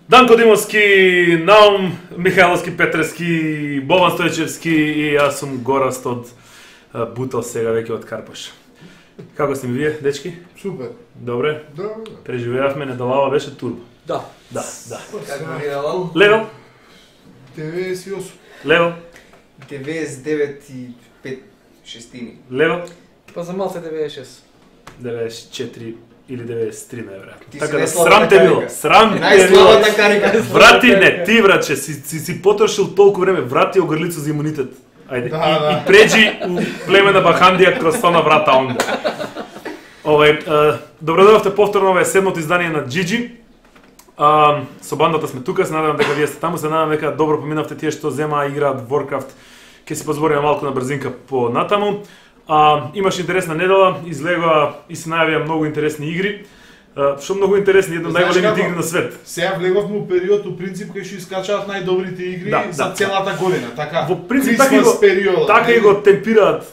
Данко Димовски, Наум Михайловски Петрески, Бован Стојчевски и јас сум Гораст од Бутел, сега веќе од Карпаш. Како сте ми вие, дечки? Супер. Добре? Добре. Преживеавме, недолава беше турбо. Да. Да. Како ви Левал? Левел? 98. Левел? 99 и 5 шестини. Левел? Па за малце 96. 94 или 93 најверојатно. Ти си Така да најслабата срам те било, карика. срам те било. Најслабата карика. Брати, не, ти браче, си потрошил толку време, врати огрлицу за имунитет. Ајде, и преđи у племена Бахандија кроз тоа врата онда. Добродојавте повторно, ова е седмото издание на GG. Со бандата сме тука, се надевам дека вие сте таму, се надевам дека добро поминавте тие што земаа и играат Warcraft. Ќе си позбориме малку на брзинка по натаму. Имаш интересна недела, излегоа и се најавија многу интересни игри. Што многу интересни, една од најголемите игри на свет. Сега влеговме у период, у принцип, кај што искачаат најдобрите игри за целата година, така? Во принцип, така и го темпираат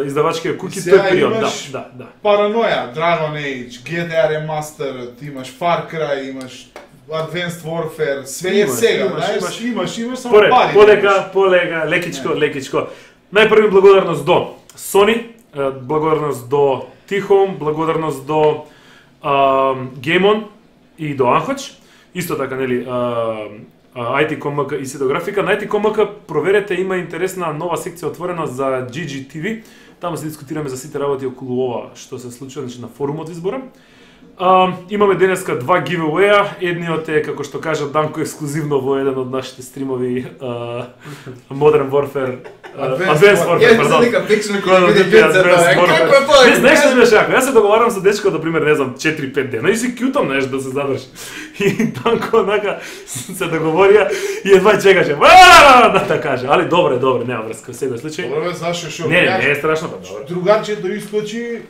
издавачките куки тој период, да. Параноја, Dragon Age, GTA Remastered, имаш Far Cry, имаш Advanced Warfare, све е сега, имаш само пари. Полека, лекичко. Најпрви благодарност до Sony, благодарност до Tihome, благодарност до Game On и до Анхоч. Исто така, нели, IT.com.mk и Сидографика. На IT.com.mk проверете, има интересна нова секција отворена за GG TV. Таму се дискутираме за сите работи околу ова што се случува, значи на форумот избора. Имаме денеска два giveaway-а. Едниот е, како што кажа Данко, ексклузивно во еден од нашите стримови Modern Warfare Advanced Warfare, пардон. Не знаеш што беше ако? Јас се договарам со дечко, например, не знам, 4-5 дена и си кјутам нешто да се задржи. И Данко онака се договорија и едва чекаше. Да каже, али добре, нема врска, секој случај. Добре, знаеш што? Не е страшно, па добре. Другарчето искочи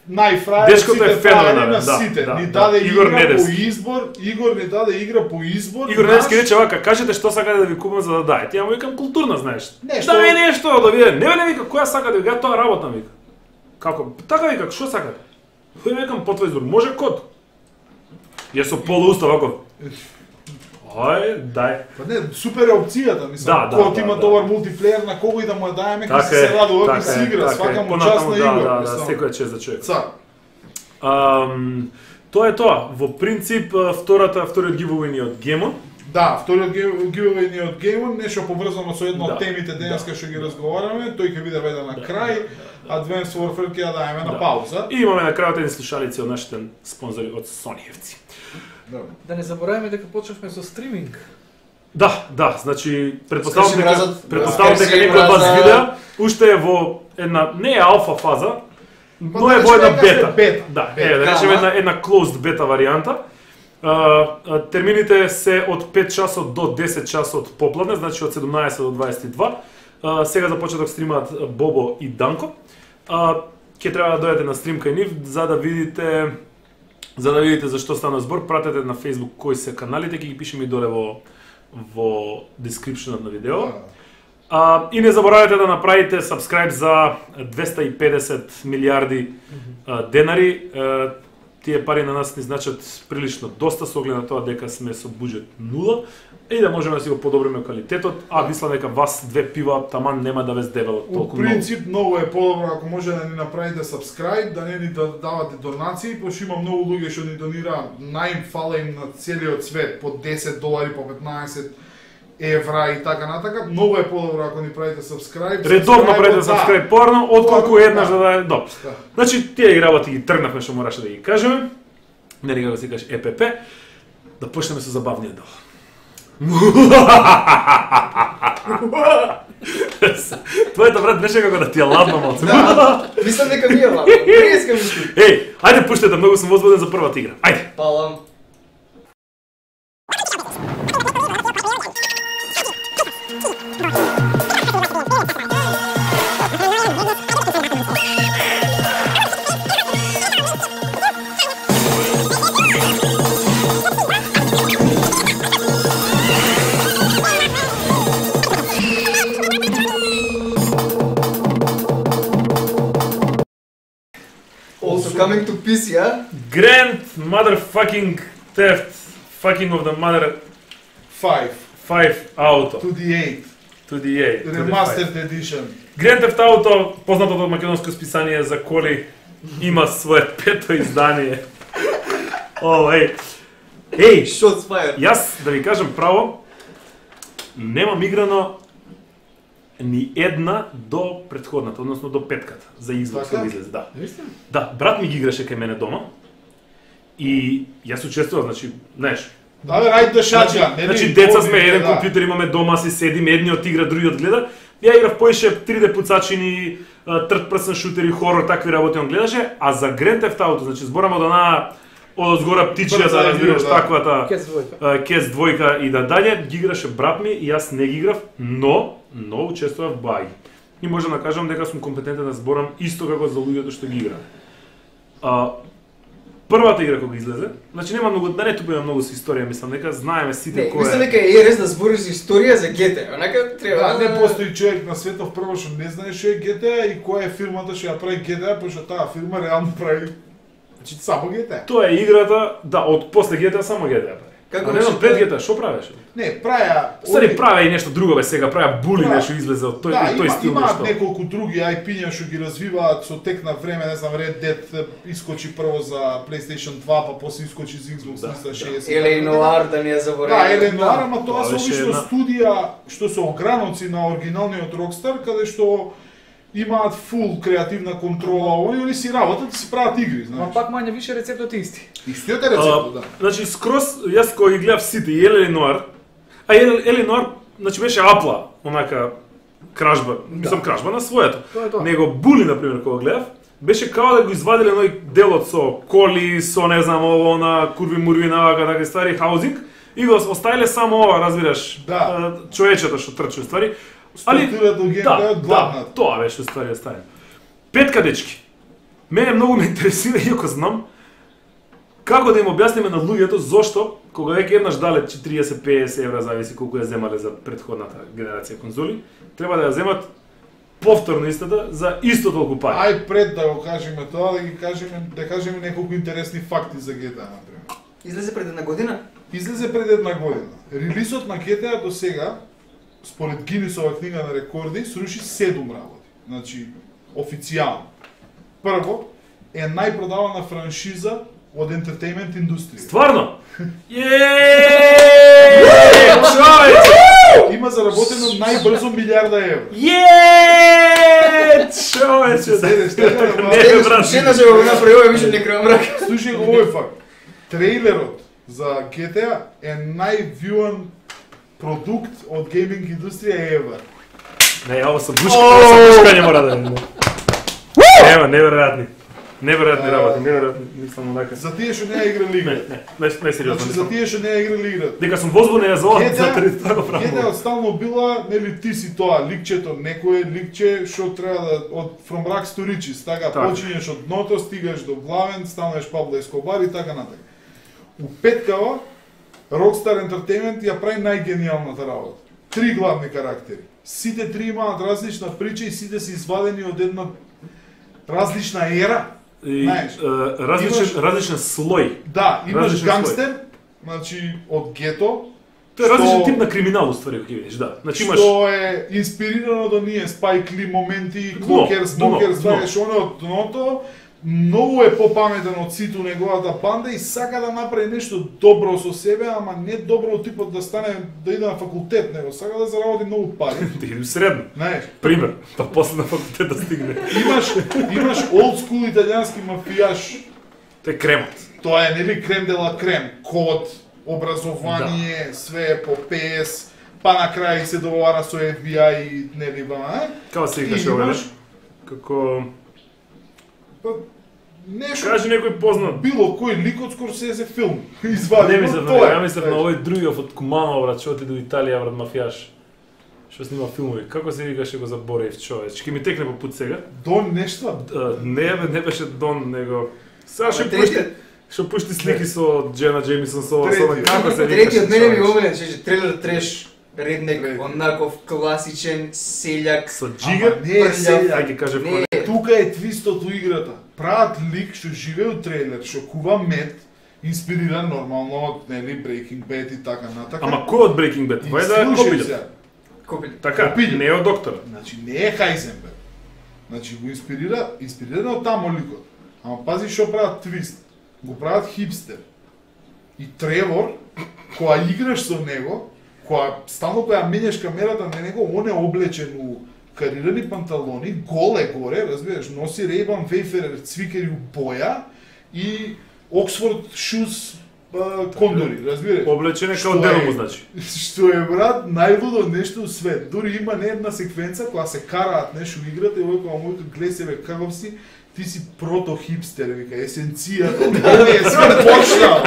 најфрајер Дечкото е феноменален, на сите. Ни даде игра по избор, Игор ни даде игра по избор. Игор Недевски рече вака, кажете што сакате да ви купам за да даете. Ја му викам културна, знаеш. Нешто. Да нешто, да виде. Не вика која сака да ви тоа работа, вика. Како? Така вика, што сакате? Кој викам по твој избор, може код. Ја со полууста вако. Дај. Па не, супер е опцијата, мислам. Кога има добар мултиплеер, на кого и да му ја даеме, ќе се радува, ќе си игра, свака му частна игра. Да, секој е чест за човек. Цар. Тоа е тоа. Во принцип, вториот giveaway ни од Game On. Да, вториот giveaway ни од Game On, нешто поврзано со една од темите денеска што ги разговараме, тој ќе биде веден на крај. Advanced Warfare ќе ја даеме на пауза. И имаме на крајот едни слушалици од нашите спонзори од Сониевци. Да не забораваме дека почнавме со стриминг. Да, значи претпоставам дека некој од вас видеа, уште е во една не е алфа фаза, но е во една бета. Да, да речеме една closed бета варијанта. Термините се од 5 часот до 10 часот попладне, значи од 17 до 22. Сега започнаа да стримаат Бобо и Данко. Ќе треба да дојдете на стрим кај нив за да видите за што стана збор. Пратете на Facebook кои се каналите, ќе ги пишеме и доле во descriptionот на видео. И не заборавајте да направите subscribe за 250 милиарди денари. Тие пари на нас ни значат прилично доста со оглед на тоа дека сме со буџет 0 и да можеме да си го подобриме квалитетот, мислам дека вас две пива таман нема да ве здебелат толку многу. Во принцип многу е подобро ако може да ни направите subscribe, да не ни давате донации, пошто има многу луѓе што ни донираат, фала им на целиот свет по $10, по 15 евра и така натака. Многу е подобро ако ни правите subscribe. Редовно правите subscribe порано, отколку еднаш да даде добро. Значи тие работи ги тргнавме што мораше да ги кажеме. Не како се каже ЕПП. Да почнеме со забавниот дел. Твоето брат беше како да ти ја ладно малце. Мислам дека ми е ладно. Преска мислам. Еј, ајде пуштете, многу сум возбуден за првата игра. Ајде. Палам. Also coming to PC, а? Grand motherfucking theft fucking of the mother 5 5 Auto to the 8 to the 8 to the Remastered 5. Edition. Grand Theft Auto, познатото македонско списание за коли, има свое пето издание. О, еј, Shots fired. јас да ви кажам право, немам играно ни една до претходната, односно до петката за Xbox Така? кога излезе, да. Да, брат ми ги играше кај мене дома и јас учествував, значи, знаеш, Да, бе, рајд да шаджа. значи деца сме, еден компјутер имаме дома, си седиме, едниот игра, другиот гледа. Ја играв поише 3D пуцачини, third person шутери, хорор, такви работи он гледаше, а за Grand Theft Auto, значи зборам од онаа одозгора птичија, да разбираш да. таквата Кец двојка. Кес двојка и да далje, ги играше брат ми и јас не ги играв, но учествував бај. И можам да кажам дека сум компетентен да зборам исто како за луѓето што ги играат. Првата игра кога излезе, значи нема многу, да не тупиме многу со историја, мислам дека знаеме сите Не, кој мислам е. дека е рез да збориш за историја за GTA. Онака треба. Да, не постои човек на светот прво што не знае што е GTA и која е фирмата што ја прави GTA, пошто таа фирма реално прави значи само GTA. Тоа е играта, да, од после GTA само GTA прави. Како А не беше знам, пред тоа? GTA, што правеше? Не, праја Стари праве и нешто друго бе сега, правеа були Да. нешто излезе од тој, да, тој стил имаат нешто. неколку други IP-ња што ги развиваат со тек на време, не знам, Red Dead искочи прво за PlayStation 2, па после искочи за Xbox Да, 360. Еле и Noir да не ја забораваме. Да, Еле Noir, ама тоа Тоа се беше обично една- студија што се ограноци на оригиналниот Rockstar, каде што имаат фул креативна контрола, они си работат и си прават игри, Ма знаеш. пак мање више рецептот е исти. Истиот е рецептот, да. Значи, скроз, јас кога ги гледав сите и Еле Нуар, а Еле Нуар, значи беше апла, онака, кражба, мислам кражба на своето. Тоа е тоа. Него Були, например, кога гледав, беше као да го извадиле оној делот со коли, со не знам ово, на курви-мурви, навака, такви ствари, хаузинг, и го оставиле само ова, разбираш, Да. човечето што трчи, ствари. Али, Структурата од геймплејот главна. тоа беше ствари оставено. Петка дечки. Мене многу ме интересира, иако знам, како да им објасниме на луѓето зошто, кога веќе еднаш дале 40-50 евра, зависи колку ја земале за претходната генерација конзоли, треба да ја земат повторно истата за исто толку пари. Ај пред да го кажеме тоа, да кажеме неколку интересни факти за GTA, например. Излезе пред една година? Излезе пред една година. Релизот на GTA до сега, според Гинисова книга на рекорди, сруши 7 работи. Значи, официјално. Прво, е најпродавана франшиза од ентертејмент индустрија. Стварно? Јеее! Човече! Има заработено најбрзо милиарда евра. Јеее! Човече! Седеш така, ама- Не, брат. Шена се го направи, ова више не крам мрак. Слушај го овој факт. Трейлерот за GTA е највјуан продукт од гейминг индустрија ever. Не, ово со бушкање мора да биде. Нема, неверојатни. Неверојатни работи, неверојатни, мислам онака. За тие што не ја играли играта. Не сериозно. Значи за тие што не ја играли играта. Дека сум возбуден за ова, GTA за тоа го GTA правам. стално била, нели ти си тоа ликчето, некое ликче што треба да од From Rags to Riches, така Така. почињеш од дното, стигаш до главен, станеш Пабло Ескобар и така натака. У петкава Rockstar Entertainment ја прави најгениалната работа. 3 главни карактери. Сите 3 имаат различна прича и сите се извадени од една различна ера. И, Знаеш, различен слој. Да, имаш Различен гангстер, значи од гето, Тоа е различен што- тип на криминал, уствари, кога ги видиш, да. Значи имаш... што е инспирирано од оние Спайк Ли моменти, Дно, Клокерс, дно, Смокерс, дно. знаеш, оно од дното, многу е попаметен од сите неговата банда и сака да направи нешто добро со себе, ама не добро од типот да стане, да иде на факултет, него сака да заработи многу пари. Да иди средно. Знаеш, Пример, па после на факултет да стигне. имаш олд скул италијански мафијаш, Тој е кремот. тоа е нели крем де ла крем, код, образование, све по PS, па на крај се договара со FBI и нели Како се викаше ова? Како нешто кажи некој познат. било кој лик од Скорсезе филм извади. Не мислев на него, ја мислев на овој другиот од Кумано, брат, што отиде до Италија, брат, мафијаш. Што снима филмови. Како се викаше, го заборев човеч. Ќе ми текне по пут сега. Дон нешто? Не бе, не беше Дон, него. Сега што пушти слики со Джена Джеймисон со како се викаше. Третиот мене ми омилен, че трейлер треш, реднек, онаков класичен селјак. Со джигер? Не, селјак. Ајде кажи кој. Тука е твистот у играта. Прават лик што живее у трейлер, што кува мед, инспириран нормално од нели Breaking Bad и така натака. Ама кој од Breaking Bad? Вајда Копилјот. Копилјот. Така, не е од доктор. Значи не е Хайзенберг. Значи го инспириран од таму ликот. Ама пази што прават твист. Го прават хипстер. И Тревор, кога играш со него, стално кога менеш камерата на него, он е облечен у карирани панталони, гол е горе, разбираш, носи Ray-Ban Wayfarer цвикери у боја и Oxford Shoes кондори, разбираш. Облечен е као дело, значи. Што е, брат, најлудо нешто у свет. Дури има не една секвенца кога се караат нешто у играта и овој кога мојот гледа себе каков си, ти си прото-хипстер, вика, есенцијата, од тебе е све почнал.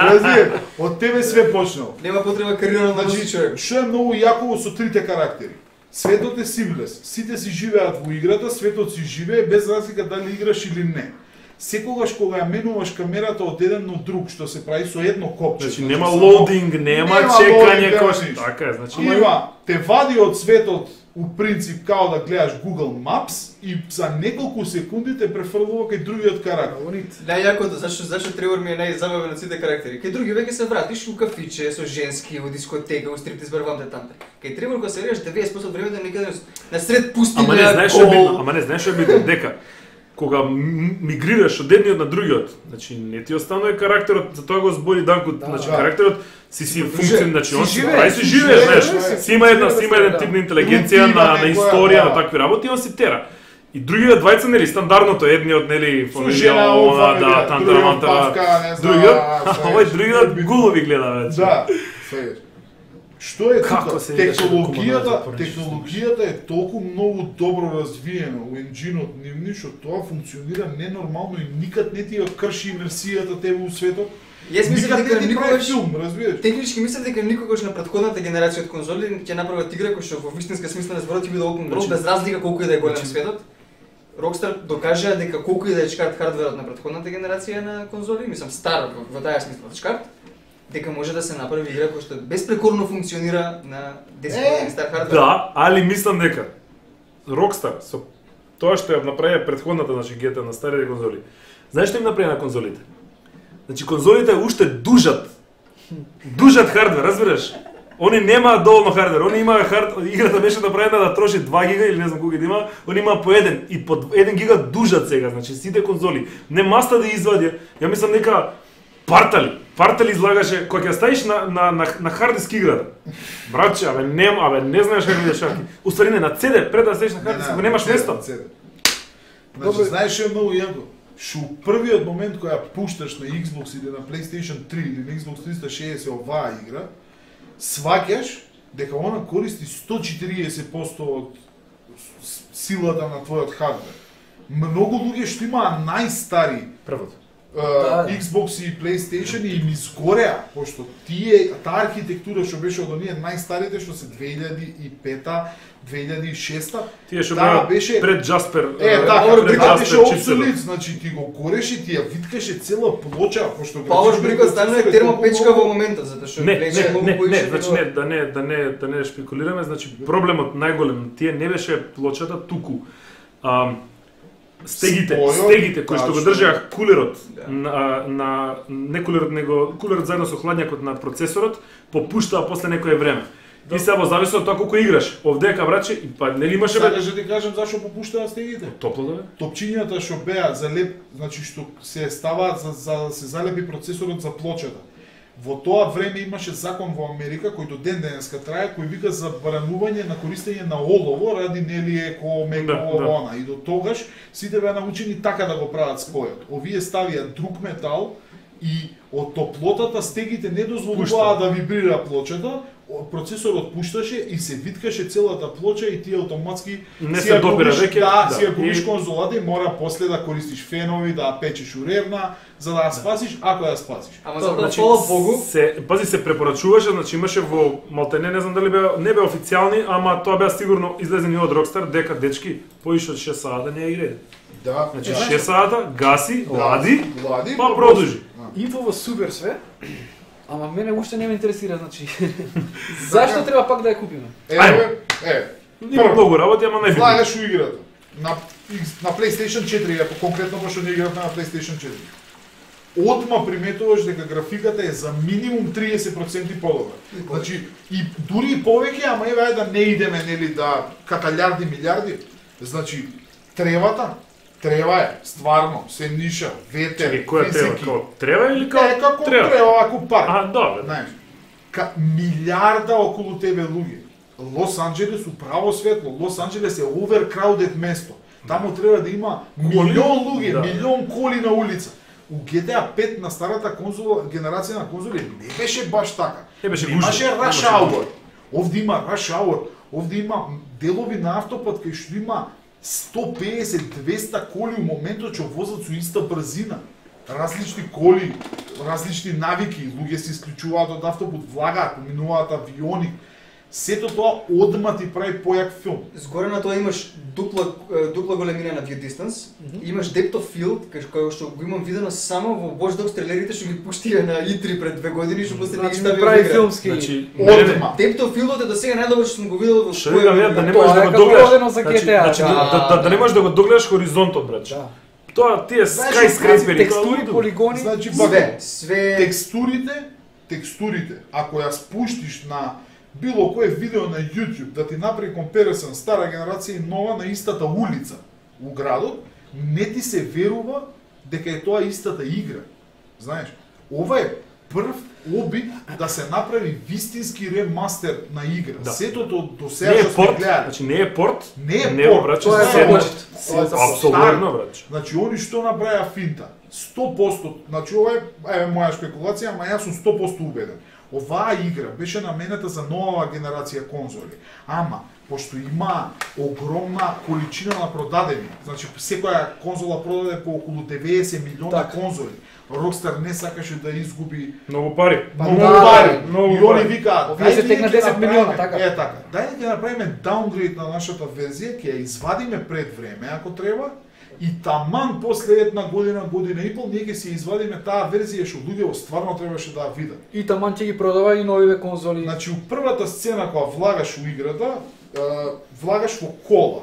Разбираш, од тебе све почнал. Нема потреба кариера да носи човек. Што е многу јако со трите карактери. Светот е сивлес, сите си живеат во играта, светот си живее без разлика дали играш или не. Секогаш кога ја менуваш камерата од еден до друг, што се прави со едно копче. Значи нема лоудинг, нема чекање, така е, значи има те вади од светот у принцип као да гледаш Google Maps и за неколку секунди те префрлува кај другиот карактер. Најјакото, зашто Тревор ми е најзабавен од сите карактери. Кај други веќе се вратиш у кафиче со женски, во дискотека, у стриптиз барвам тамте. Кај Тревор кога се вериш 90% од времето некаде на сред пустина. Ама не знаеш што е битно, дека кога мигрираш од едниот на другиот, значи не ти останува карактерот, за тоа го збори Данко, значи карактерот си функција, значи он си живее, знаеш, си има еден тип на интелигенција, на историја, на такви работи, он си тера. И другиот двајца нели стандардното, едниот нели фамилија, она да тантара, другиот, овој другиот гулови гледа веќе. Да, сега. Што е тука? Технологијата е толку многу добро развиена у енџинот нивни, што тоа функционира ненормално и никад не ти ја крши имерсијата тебе у светот. Јас мислам дека никогаш филм, разбираш? Технички мислам дека никогаш на претходната генерација од конзоли ќе направат игра која што во вистинска смисла на зборот ќе биде open world без разлика колку и да е голем светот. Rockstar докажа дека колку и да е чкарт хардверот на претходната генерација на конзоли, мислам стар во таа смисла чкарт, дека може да се направи игра која што безпрекорно функционира на 10 години стар хардвер. Да, али мислам дека Rockstar со тоа што ја направи претходната, значи GTA на старите конзоли. Знаеш што им направи на конзолите? Значи конзолите уште дужат хардвер, разбираш? Они немаат доволно хардвер, они имаа играта беше направена да троши 2 гига или не знам колку да има, они имаа по 1 и по 1 гига дужат сега, значи сите конзоли. Не маста да извадија. Ја мислам дека Партали излагаше кога ќе ставиш на хард диск играта. Братче, не знаеш како да шаки. Уствари не на CD, пред да ставиш на хард диск, го немаш место. Значи знаеш што е многу јако? Што првиот момент кога ја пушташ на Xbox или на PlayStation 3 или на Xbox 360 оваа игра, сваќаш дека она користи 140% од силата на твојот хардвер. Многу луѓе што имаа најстари првото Xbox и PlayStation и им изгореа, пошто таа архитектура што беше од оние најстарите што се 2005-та, 2006-та, тие што беше пред Jasper. Така беше обсолит, значи ти го гореше, ти ја виткаше цела плоча, пошто Power Brick станува термопечка во моментот, затоа што беше многу поише. Значи да не шпекулираме, значи проблемот најголем тие не беше плочата, туку стегите кои што го држаа кулерот на не кулерот него кулерот заедно со хладњакот на процесорот попуштаа после некое време. И сега во зависност од тоа колку играш. Овдека браче и па нели имаше Сакаш да ти кажам зашо попуштаа стегите? Топло да бе. Топчињата што беа залеп, значи што се ставаат за да се залепи процесорот за плочата. Во тоа време имаше закон во Америка кој до ден денеска трае, кој вика забранување на користење на олово ради нели еко меко она. И до тогаш сите беа научени така да го прават спојот. Овие ставија друг метал и од топлотата стегите не дозволуваа да вибрира плочата, процесорот пушташе и се виткаше целата плоча и ти автоматски Не се допира веќе. Да, си ја губиш конзолата и мора после да користиш фенови, да ја печеш уревна, за да ја спасиш, ако ја спасиш. Ама за да фала Богу, Пази се препорачуваше, значи имаше во малтене, не знам дали не беа официјални, ама тоа беа сигурно излезени од Rockstar дека дечки поише од 6 сата не ја играат. Да, Значи 6 сата, гаси, лади, лади, па продолжи. Инфо во супер све. Ама мене уште не ме интересира, значи. Зашто треба пак да ја купиме? Има многу работи, ама најбитно. Влагаш у играта. На PlayStation 4, ако конкретно пошто не играв на PlayStation 4. Одма приметуваш дека графиката е за минимум 30% подобра. Значи, и дури и повеќе, ама еве да не идеме нели да каталјарди милиарди. Значи, трева е, стварно, се ниша, ветер, Чекај, која треба? физики. Како треба или како Не, како треба? трева, ако парк. А, добре. Знаеш, милиарда околу тебе луѓе. Лос Анџелес управо светло, Лос Анџелес е overcrowded место. Таму треба да има милион луѓе, Да. милион коли на улица. У GTA 5 на старата конзола, генерација на конзоли не беше баш така. Не беше Имаше гужва, rush немаше hour. гужва. Овде има rush hour, овде има делови на автопат кај што има 150-200 коли у моментот што возат со иста брзина. Различни коли, различни навики, луѓе се исклучуваат од автопут, влагаат, поминуваат авиони. Сето тоа одма ти прави појак филм. згоре на тоа имаш дупла големина на view distance, имаш depth of field, кај што го имам видено само во Watch Dogs трейлерите што ги пуштија на E3 пред 2 години, што после не ги Значи ставија да прави во игра. филмски. Значи, Одма. Depth of field е до сега најдобро што сум го видел во Што викам ја, да не можеш Тоа да е го како догледаш. родено за GTA, Значи, да не можеш да го догледаш хоризонтот, брат. Да. Тоа тие Знаеш, скайскрейпери, Текстури, полигони. Значи, све текстурите, ако ја спуштиш на било кое видео на YouTube да ти направи комперисен стара генерација и нова на истата улица у градот, не ти се верува дека е тоа истата игра. Знаеш, ова е прв обид да се направи вистински ремастер на игра. Да. Сето до Не сега е што сме порт, гледали. значи не е порт, Не е не порт, брат, тоа е се започет. апсолутно брат. Значи, они што направија финта, 100%, значи ова е моја спекулација, ама јас сум 100% убеден. Оваа игра беше наменета за нова генерација конзоли, ама пошто има огромна количина на продадени, значи секоја конзола продаде по околу 90 милиона Така. конзоли. Rockstar не сакаше да изгуби Многу пари. многу да, пари. многу И они пари. викаат, Овие се дај текна ние ќе 10 милиона, направиме- така. Е така. Дај да ќе направиме даунгрейд на нашата верзија, ќе ја извадиме пред време ако треба. И таман после една година и пол, ние ќе си извадиме таа верзија што луѓето стварно требаше да ја видат. И таман ќе ги продава и новиве конзоли. Значи, у првата сцена кога влагаш у играта, влагаш во кола.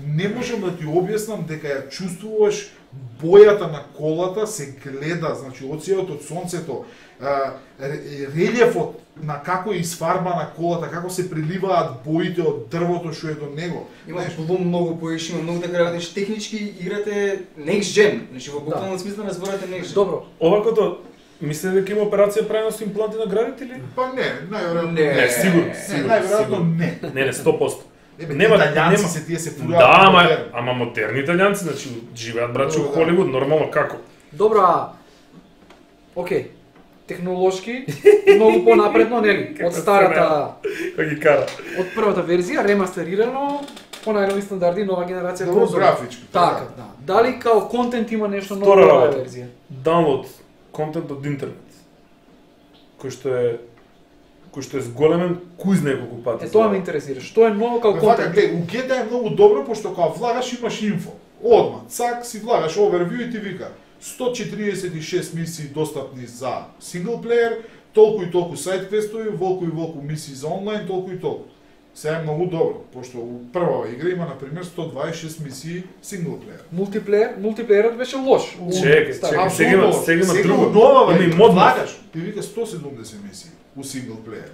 Не можам да ти објаснам дека ја чувствуваш бојата на колата, се гледа, значи од сијот од сонцето, релјефот на како е изфарбана колата, како се приливаат боите од дрвото што е до него. Има Знаеш, блум многу поише, има многу така работиш. Технички играте next gen, значи во буквален смисла на зборот е next gen. Добро. Овакото мислите дека има операција правено со импланти на градите или? па не, најверојатно Не, сигурно. најверојатно не. Не, 100%. Ебе, Нема- италијанци нема. се тие се фураат. Да, ама модерни италијанци, значи живеат брачи во Да. Холивуд, нормално како? Добро, окей. Технолошки многу понапредно, нели? Од старата, Кој ги кара? од првата верзија, ремастерирано по најнови стандарди, нова генерација Добро конзоли. графички. Така, да. Дали као контент има нешто ново Втора во оваа работа. верзија? Download контент од интернет. Кој што е зголемен куј знае колку пати. Е, тоа ме интересира. Што е ново као Вака, контент? гледа, у GTA е многу добро, пошто кога влагаш имаш инфо. Одма, цак си влагаш overview и ти вика 146 мисии достапни за синглплеер, толку и толку сайт квестови, волку и волку мисии за онлайн, толку и толку. Сега е многу добро, пошто у првава игра има, например, 126 мисии синглплеер. Мултиплеерот беше лош. Чекај, Стар. сега има друго. Нова Има и игра, модно. влагаш, ти вика 170 мисии у синглплеер.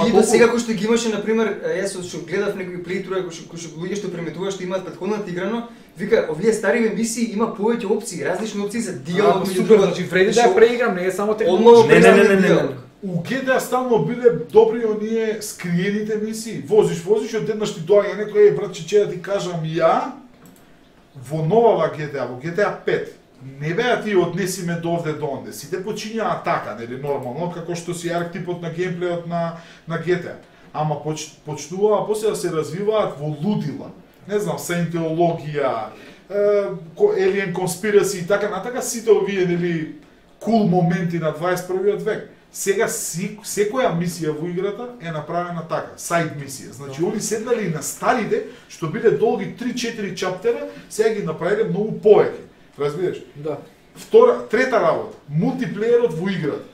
И до сега кој што ги имаше, например, јас што гледав некои плейтруа, кои што луѓе што преметуваат што имаат претходната играно, вика, овие стари мисии има повеќе опции, различни опции за диалог меѓу Супер, значи вреди да ја преиграм, не е само Одново технолошки. Не. У GTA стално биле добри оние скриените мисии. Возиш и одеднаш ти доаѓа некој брат че да ти кажам ја во новава GTA, во GTA 5. не беа ти однеси ме до овде до онде. Сите почињаа така, нели нормално, како што си архетипот на геймплејот на GTA. Ама почнуваа после да се развиваат во лудила. Не знам, саентологија, Alien Conspiracy и така натака, сите овие нели кул моменти на 21 век. Сега секоја мисија во играта е направена така, сайд мисија. Значи, они седнали на старите, што биле долги 3-4 чаптера, сега ги направиле многу повеќе. Разбираш? Да. Трета работа, мултиплеерот во играта.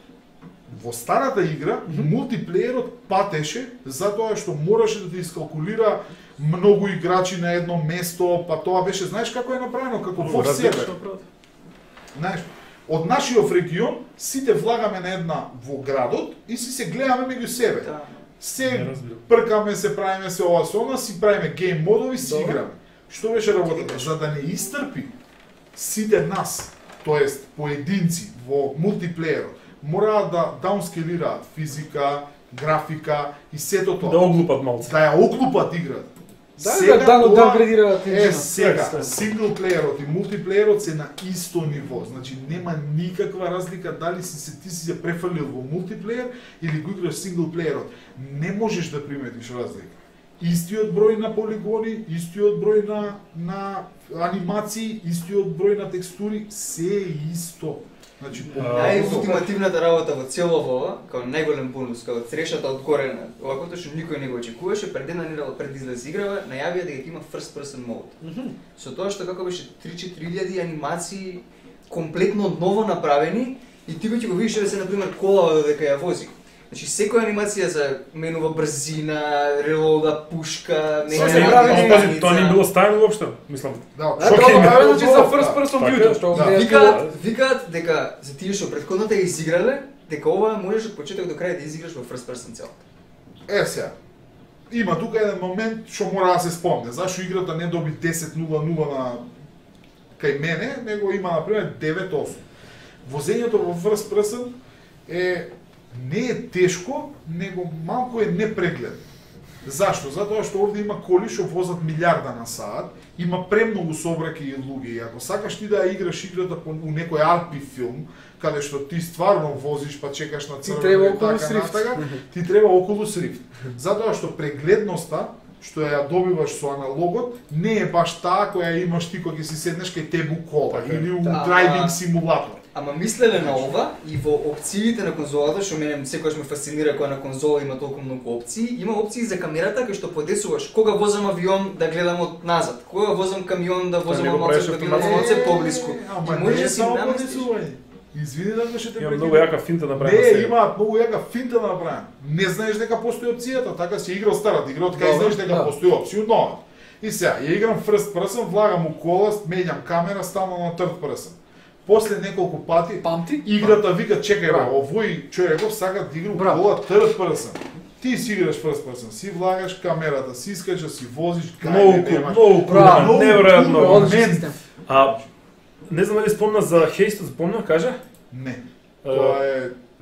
Во старата игра, мултиплеерот патеше затоа што мораше да ти искалкулира многу играчи на едно место, па тоа беше, знаеш како е направено, како во себе. Знаеш, од нашиот регион сите влагаме на една во градот и се гледаме меѓу себе. Се пркаме, се правиме се ова со она, си правиме гейм модови, си играме. Што беше работата? За да не истрпи сите нас, тоест поединци во мултиплеерот, мораат да даунскелираат физика, графика и сето тоа. Да оглупат малце. Да ја оглупат играта. Да даунгрейдираат енџинот. Сега, синглплеерот и мултиплеерот се на исто ниво. Значи нема никаква разлика дали ти си се префрлил во мултиплеер или го играш синглплеерот. Не можеш да приметиш разлика. Истиот број на полигони, истиот број на анимации, истиот број на текстури, се е исто. Значи, најултимативната работа во цело ова, као најголем бонус, као црешата од горе на оваквото што никој не го очекуваше, пред една недела пред излез играва, најавија дека има first person mode. Со тоа што како беше 3-4 анимации комплетно ново направени и ти го видиш да се на пример кола додека ја вози. Значи секоја анимација за менува брзина, релода, пушка, тоа не било ставено воопшто, мислам. Да, значи за first person view, што викаат дека за тие што претходната ја изиграле, дека ова можеш од почеток до крај да изиграш во first person цел. Сега. Има тука еден момент што мора да се спомне. Зашто играта не доби 10-0-0 на кај мене, него има на пример 9-8. Возењето во first person не е тешко, него малку е непрегледно. Зашто? Затоа што овде има коли што возат милиарда на саат, има премногу сообраќај и луѓе. И ако сакаш ти да играш играта у некој арпи филм, каде што ти стварно возиш па чекаш на црвено и така, ти треба Oculus Rift. Затоа што прегледноста што ја добиваш со аналогот не е баш таа која имаш ти кога ќе си седнеш кај тебе у кола или у драйвинг симулатор. Ама мислеле на ова и во опциите на конзолата, што мене секогаш ме фасцинира кога на конзола има толку многу опции, има опции за камерата кај што подесуваш кога возам авион да гледам од назад, кога возам камион да возам малце да гледам малце поблиску. И може да си наместиш. Извини да ще те прекинам. Има многу јака финта направена. Не, има многу јака финта направена. Не знаеш дека постои опцијата, така си играл старата игра, така знаеш дека постои опција нова. И сега, ја играм first person, влагам у кола, менјам камера, ставам на third person. После неколку пати играта вика чекај бе, овој човеков сака да игра у кола third person. Ти си играш first person, си влагаш камерата, си искаш да си возиш, многу неверојатно. Не знам дали спомна за Хейст, спомна, кажа? Не.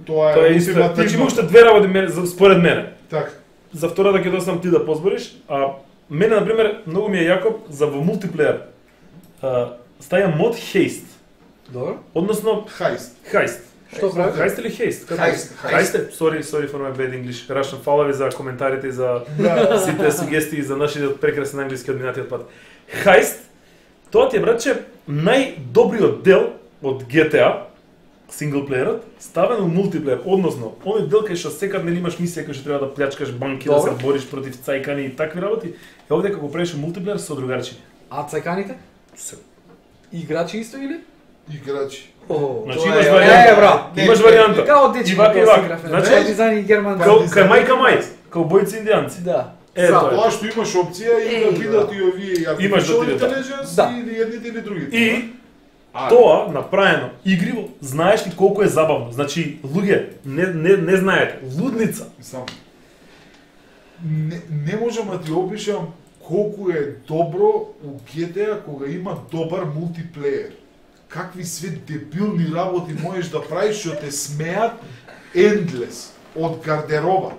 Тоа е исто. Значи има уште две работи според мене. Така. За втората ќе доставам ти да позбориш, а мене на пример многу ми е јако за во мултиплеер. Стаја мод Хейст. Добро. Односно Heist. Што прави? Heist или Haste? Heist. Sorry for my bad English. Рашам фала ви за коментарите, за сите сугестии за нашиот прекрасен англиски од минатиот пат. Heist, тоа ти е братче најдобриот дел од GTA, синглплеерот, ставен у мултиплеер, односно, оној дел кај што секад нели имаш мисија кај што треба да плячкаш банки, да се бориш против цајкани и такви работи, е овде како правиш мултиплеер со другарчи. А цајканите? Играчи исто или? Играчи. Значи имаш варијанта. Имаш варијанта. Као дечки ивак. Значи дизајн и герман. Кај мај, каубојци индијанци. Да. Тоа што имаш опција и да видат и овие artificial intelligence или едните или другите. И тоа направено игриво, знаеш ли колку е забавно. Значи луѓе не знаете, лудница. Не можам да ти опишам колку е добро у GTA кога има добар мултиплеер. Какви све дебилни работи можеш да правиш што те смеат endless од гардероба.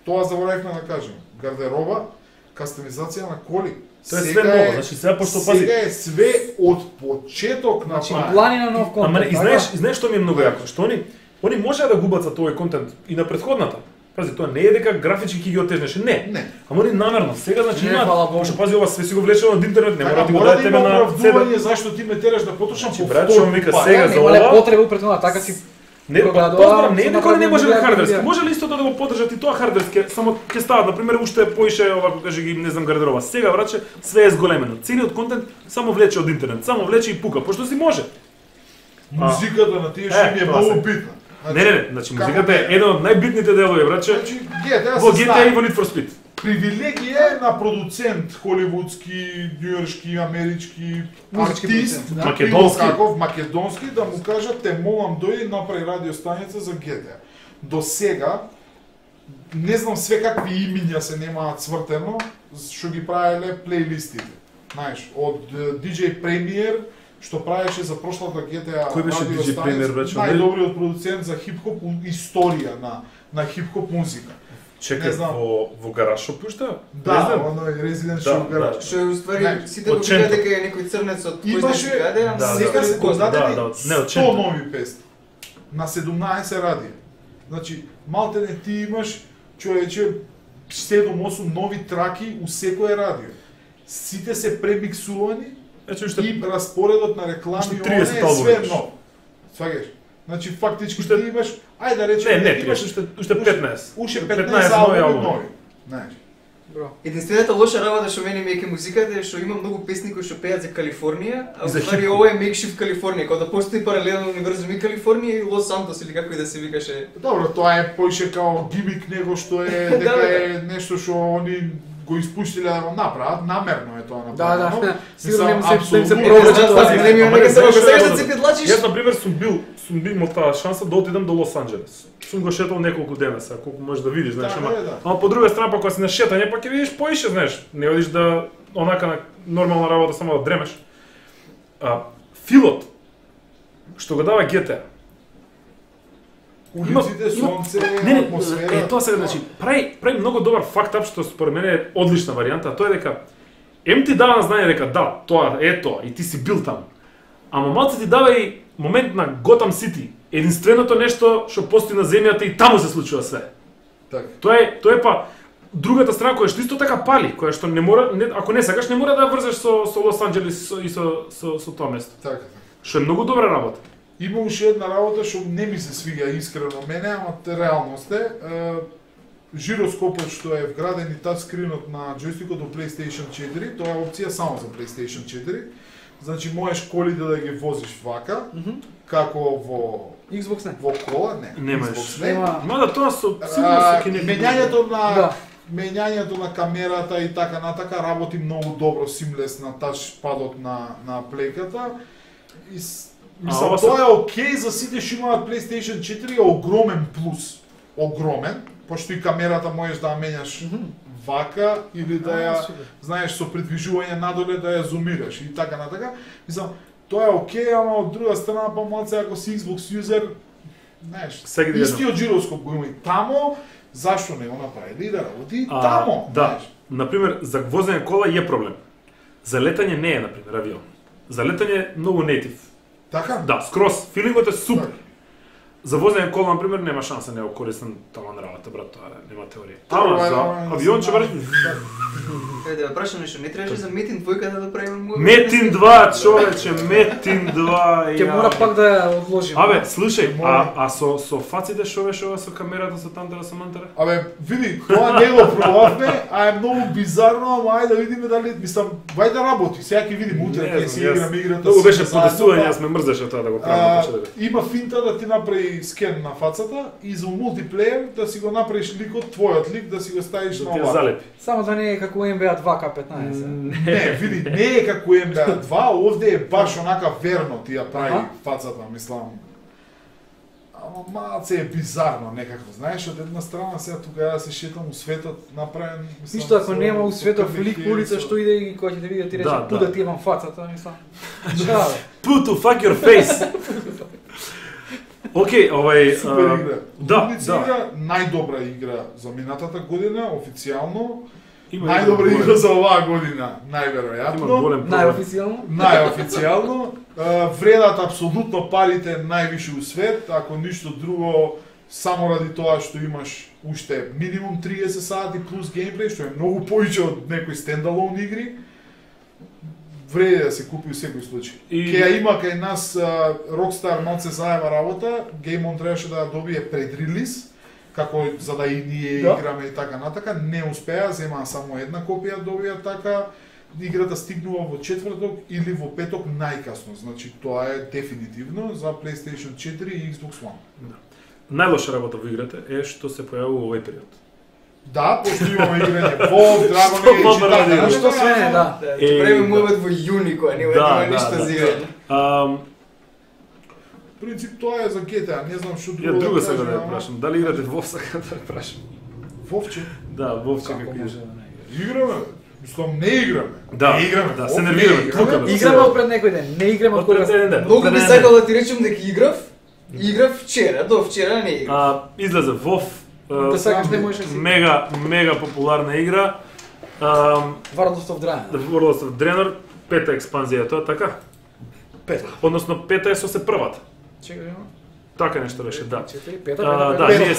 Тоа заборавивме да кажем. Гардероба, кастомизација на коли. Тоа е све ново, значи сега пошто пази. Сега е све од почеток на Значи плани на нов контент. Ама и знаеш што ми е многу јако, што они можеа да губат тој контент и на претходната. Пази, тоа не е дека графички ќе ги отежнеш, не. Ама они намерно, сега значи има, што пази ова све си го влечено од интернет, не мора да ти го даде тебе на оправдување зашто ти ме тераш да потрошам по брат, што вика сега за Немале ова. потреба пред тоа, така си Не, тоа не е дека не може на хардверски. Може ли истото да го поддржат и тоа хардверски, само ќе стават на пример уште поише овако каже ги не знам гардерова. Сега враче све е зголемено. Целиот контент само влече од интернет, само влече и пука, пошто си може. Музиката на тие шеми е многу битна. Не, значи музиката е еден од најбитните делови, враче. Значи, GTA во GTA и во Need for Speed. Привилегија на продуцент холивудски, њујоршки, амерички, артист, македонски, да му кажат те молам дојди направи радиостаница за GTA. До сега не знам све какви имиња се немаат цвртено, што ги правеле плейлистите. Знаеш, од DJ Premier што правеше за прошлата GTA Кој беше DJ Premier, бе? Најдобриот продуцент за хип-хоп историја на хип-хоп музика. Чекай, во гараж шо пушта? Да, оно е Resident Show гараж. Што е уствари сите го викаат дека е некој црнец од кој имаше сега се познатени 100 нови песни на 17 радија. Значи, малтене ти имаш човече 7-8 нови траки у секое радио. Сите се премиксувани и распоредот на реклами е све ново. Сваѓаш? Значи фактички ти имаш, ајде да речеме, не, имаш уште 15. Уште 15 албуми нови. Знаеш. Бро. Единствената лоша работа што мене ми е ке музиката е што има многу песни кои што пеат за Калифорнија, а уствари ова е Makeshift Калифорнија, кога да постои паралелен универзум и Калифорнија и Лос Сантос или како и да се викаше. Добро, тоа е поише као гимик него што е дека е нешто што они го испуштиле да го направат, намерно е тоа направено. Да, сигурно нема се провлечат тоа милиони дека се сега да се педлачиш. Јас на пример сум имал таа шанса да отидам до Лос Анџелес. Сум го шетал неколку дена, сега колку можеш да видиш, знаеш, ама по друга страна па кога си на шетање па ќе видиш поише, знаеш, не одиш да онака на нормална работа само да дремеш. Филот што го дава GTA. Улиците, сонце, атмосфера. Тоа сега значи прави многу добар факт ап што според мене е одлична варијанта, тоа е дека ти дава на знање дека да, тоа е тоа и ти си бил таму. Ама малце ти дава и момент на Готам Сити, единственото нешто што постои на земјата и таму се случува све. Така. Тоа е па другата страна која што исто така пали, која што не мора, ако не сакаш, не мора да врзеш со Лос Анџелес и со тоа место. Така. Што е многу добра работа. Има уште една работа што не ми се свига искрено мене, ама реалност е. Жироскопот што е вграден и тачскринот на џојстикот до PlayStation 4, тоа е опција само за PlayStation 4. Значи можеш колите да ги возиш вака, како во Xbox не. Во кола, не. Немаш. Нема. Мада тоа сигурно се Менјањето на камерата и така натака работи многу добро, симлес на тачпадот на плейката. Мислам, тоа е окей за сите што имаат PlayStation 4, е огромен плюс. Огромен, пошто и камерата можеш да ја менјаш вака или да ја, знаеш, со придвижување надоле да ја зумираш и така натака. Мислам, тоа е окей, ама од друга страна па малце ако си Xbox юзер, знаеш, истиот жироскоп го има и тамо, зашто не го направили да работи тамо? Да, например, за возење кола е проблем. За летање не е, например, авион. За летање многу нейтив. Така? Да, скрос, филингот е супер. За возење кола, например, нема шанса, не е корисен таман работа, брат, тоа нема теорија. Ама за авион ќе бари... Каде да прашам нешто, не требаше за Метин 2 да правиме Метин 2, човече, Метин 2. Ќе мора пак да ја одложим. Абе, слушај, а со фаците што беше ова со камерата со тантера со мантера? Абе, види, тоа не го пробавме, а е многу бизарно, ама ајде да видиме дали, мислам, вај да работи. Сега ќе видиме утре ќе си играме играта. Тоа беше подесување, јас ме мрзеше тоа да го правам почетокот. Има финта да ти направи скен на фацата и за мултиплеер да си го направиш ликот, твојот лик, да си го ставиш на ова. Залепи. Само да не е како NBA 2K15. Не, види, не е како NBA 2, овде е баш онака верно ти ја прави фацата, мислам. Ама малце е бизарно некако, знаеш, од една страна сега тука да се шетам у светот направен, мислам. Ништо ако нема у светот лик по улица што иде и кој ќе те види ти рече пу да ти имам фацата, мислам. Put to fuck your face. Океј, супер игра. Да, игра, најдобра игра за минатата година, официјално. Најдобра игра за оваа година, најверојатно. Има голем проблем. Најофицијално. Најофицијално. Вредат апсолутно парите највише у свет, ако ништо друго, само ради тоа што имаш уште минимум 30 сати плюс геймплей, што е многу повеќе од некои стендалон игри. Вреди да се купи у секој случај. Ке ја има кај нас Rockstar малце заева работа, Game On требаше да ја добие пред релиз, како за да и ние играме и така натака, не успеа, земаа само една копија добија така. Играта стигнува во четврток или во петок најкасно, значи тоа е дефинитивно за PlayStation 4 и Xbox One. Да. Најлоша работа во играта е што се појавува во овој период. Да, пошто имаме играње WoW, Dragon Age, Што све не, да. Време мовет во јуни која нема ништо за играње. Принцип тоа е за GTA, не знам што друго. Ја друго сега да ја прашам, дали играте WoW сега да ја прашам? Вовче? Да, Вовче како може игра. Играме. Мислам не играме. Да, не играме. Да, се нервираме, клукаме. Играме од пред некој ден, не играме од кога пред ден. Многу би сакал да ти речем дека играв вчера, до вчера не играв. Излезе WoW. Да сакаш не можеш да си. Мега популарна игра. World of Draenor. World of Draenor, пета експанзија тоа, така? Пета. Односно пета е со се првата. Чекај, Така нешто беше, да. Пета, Да, ние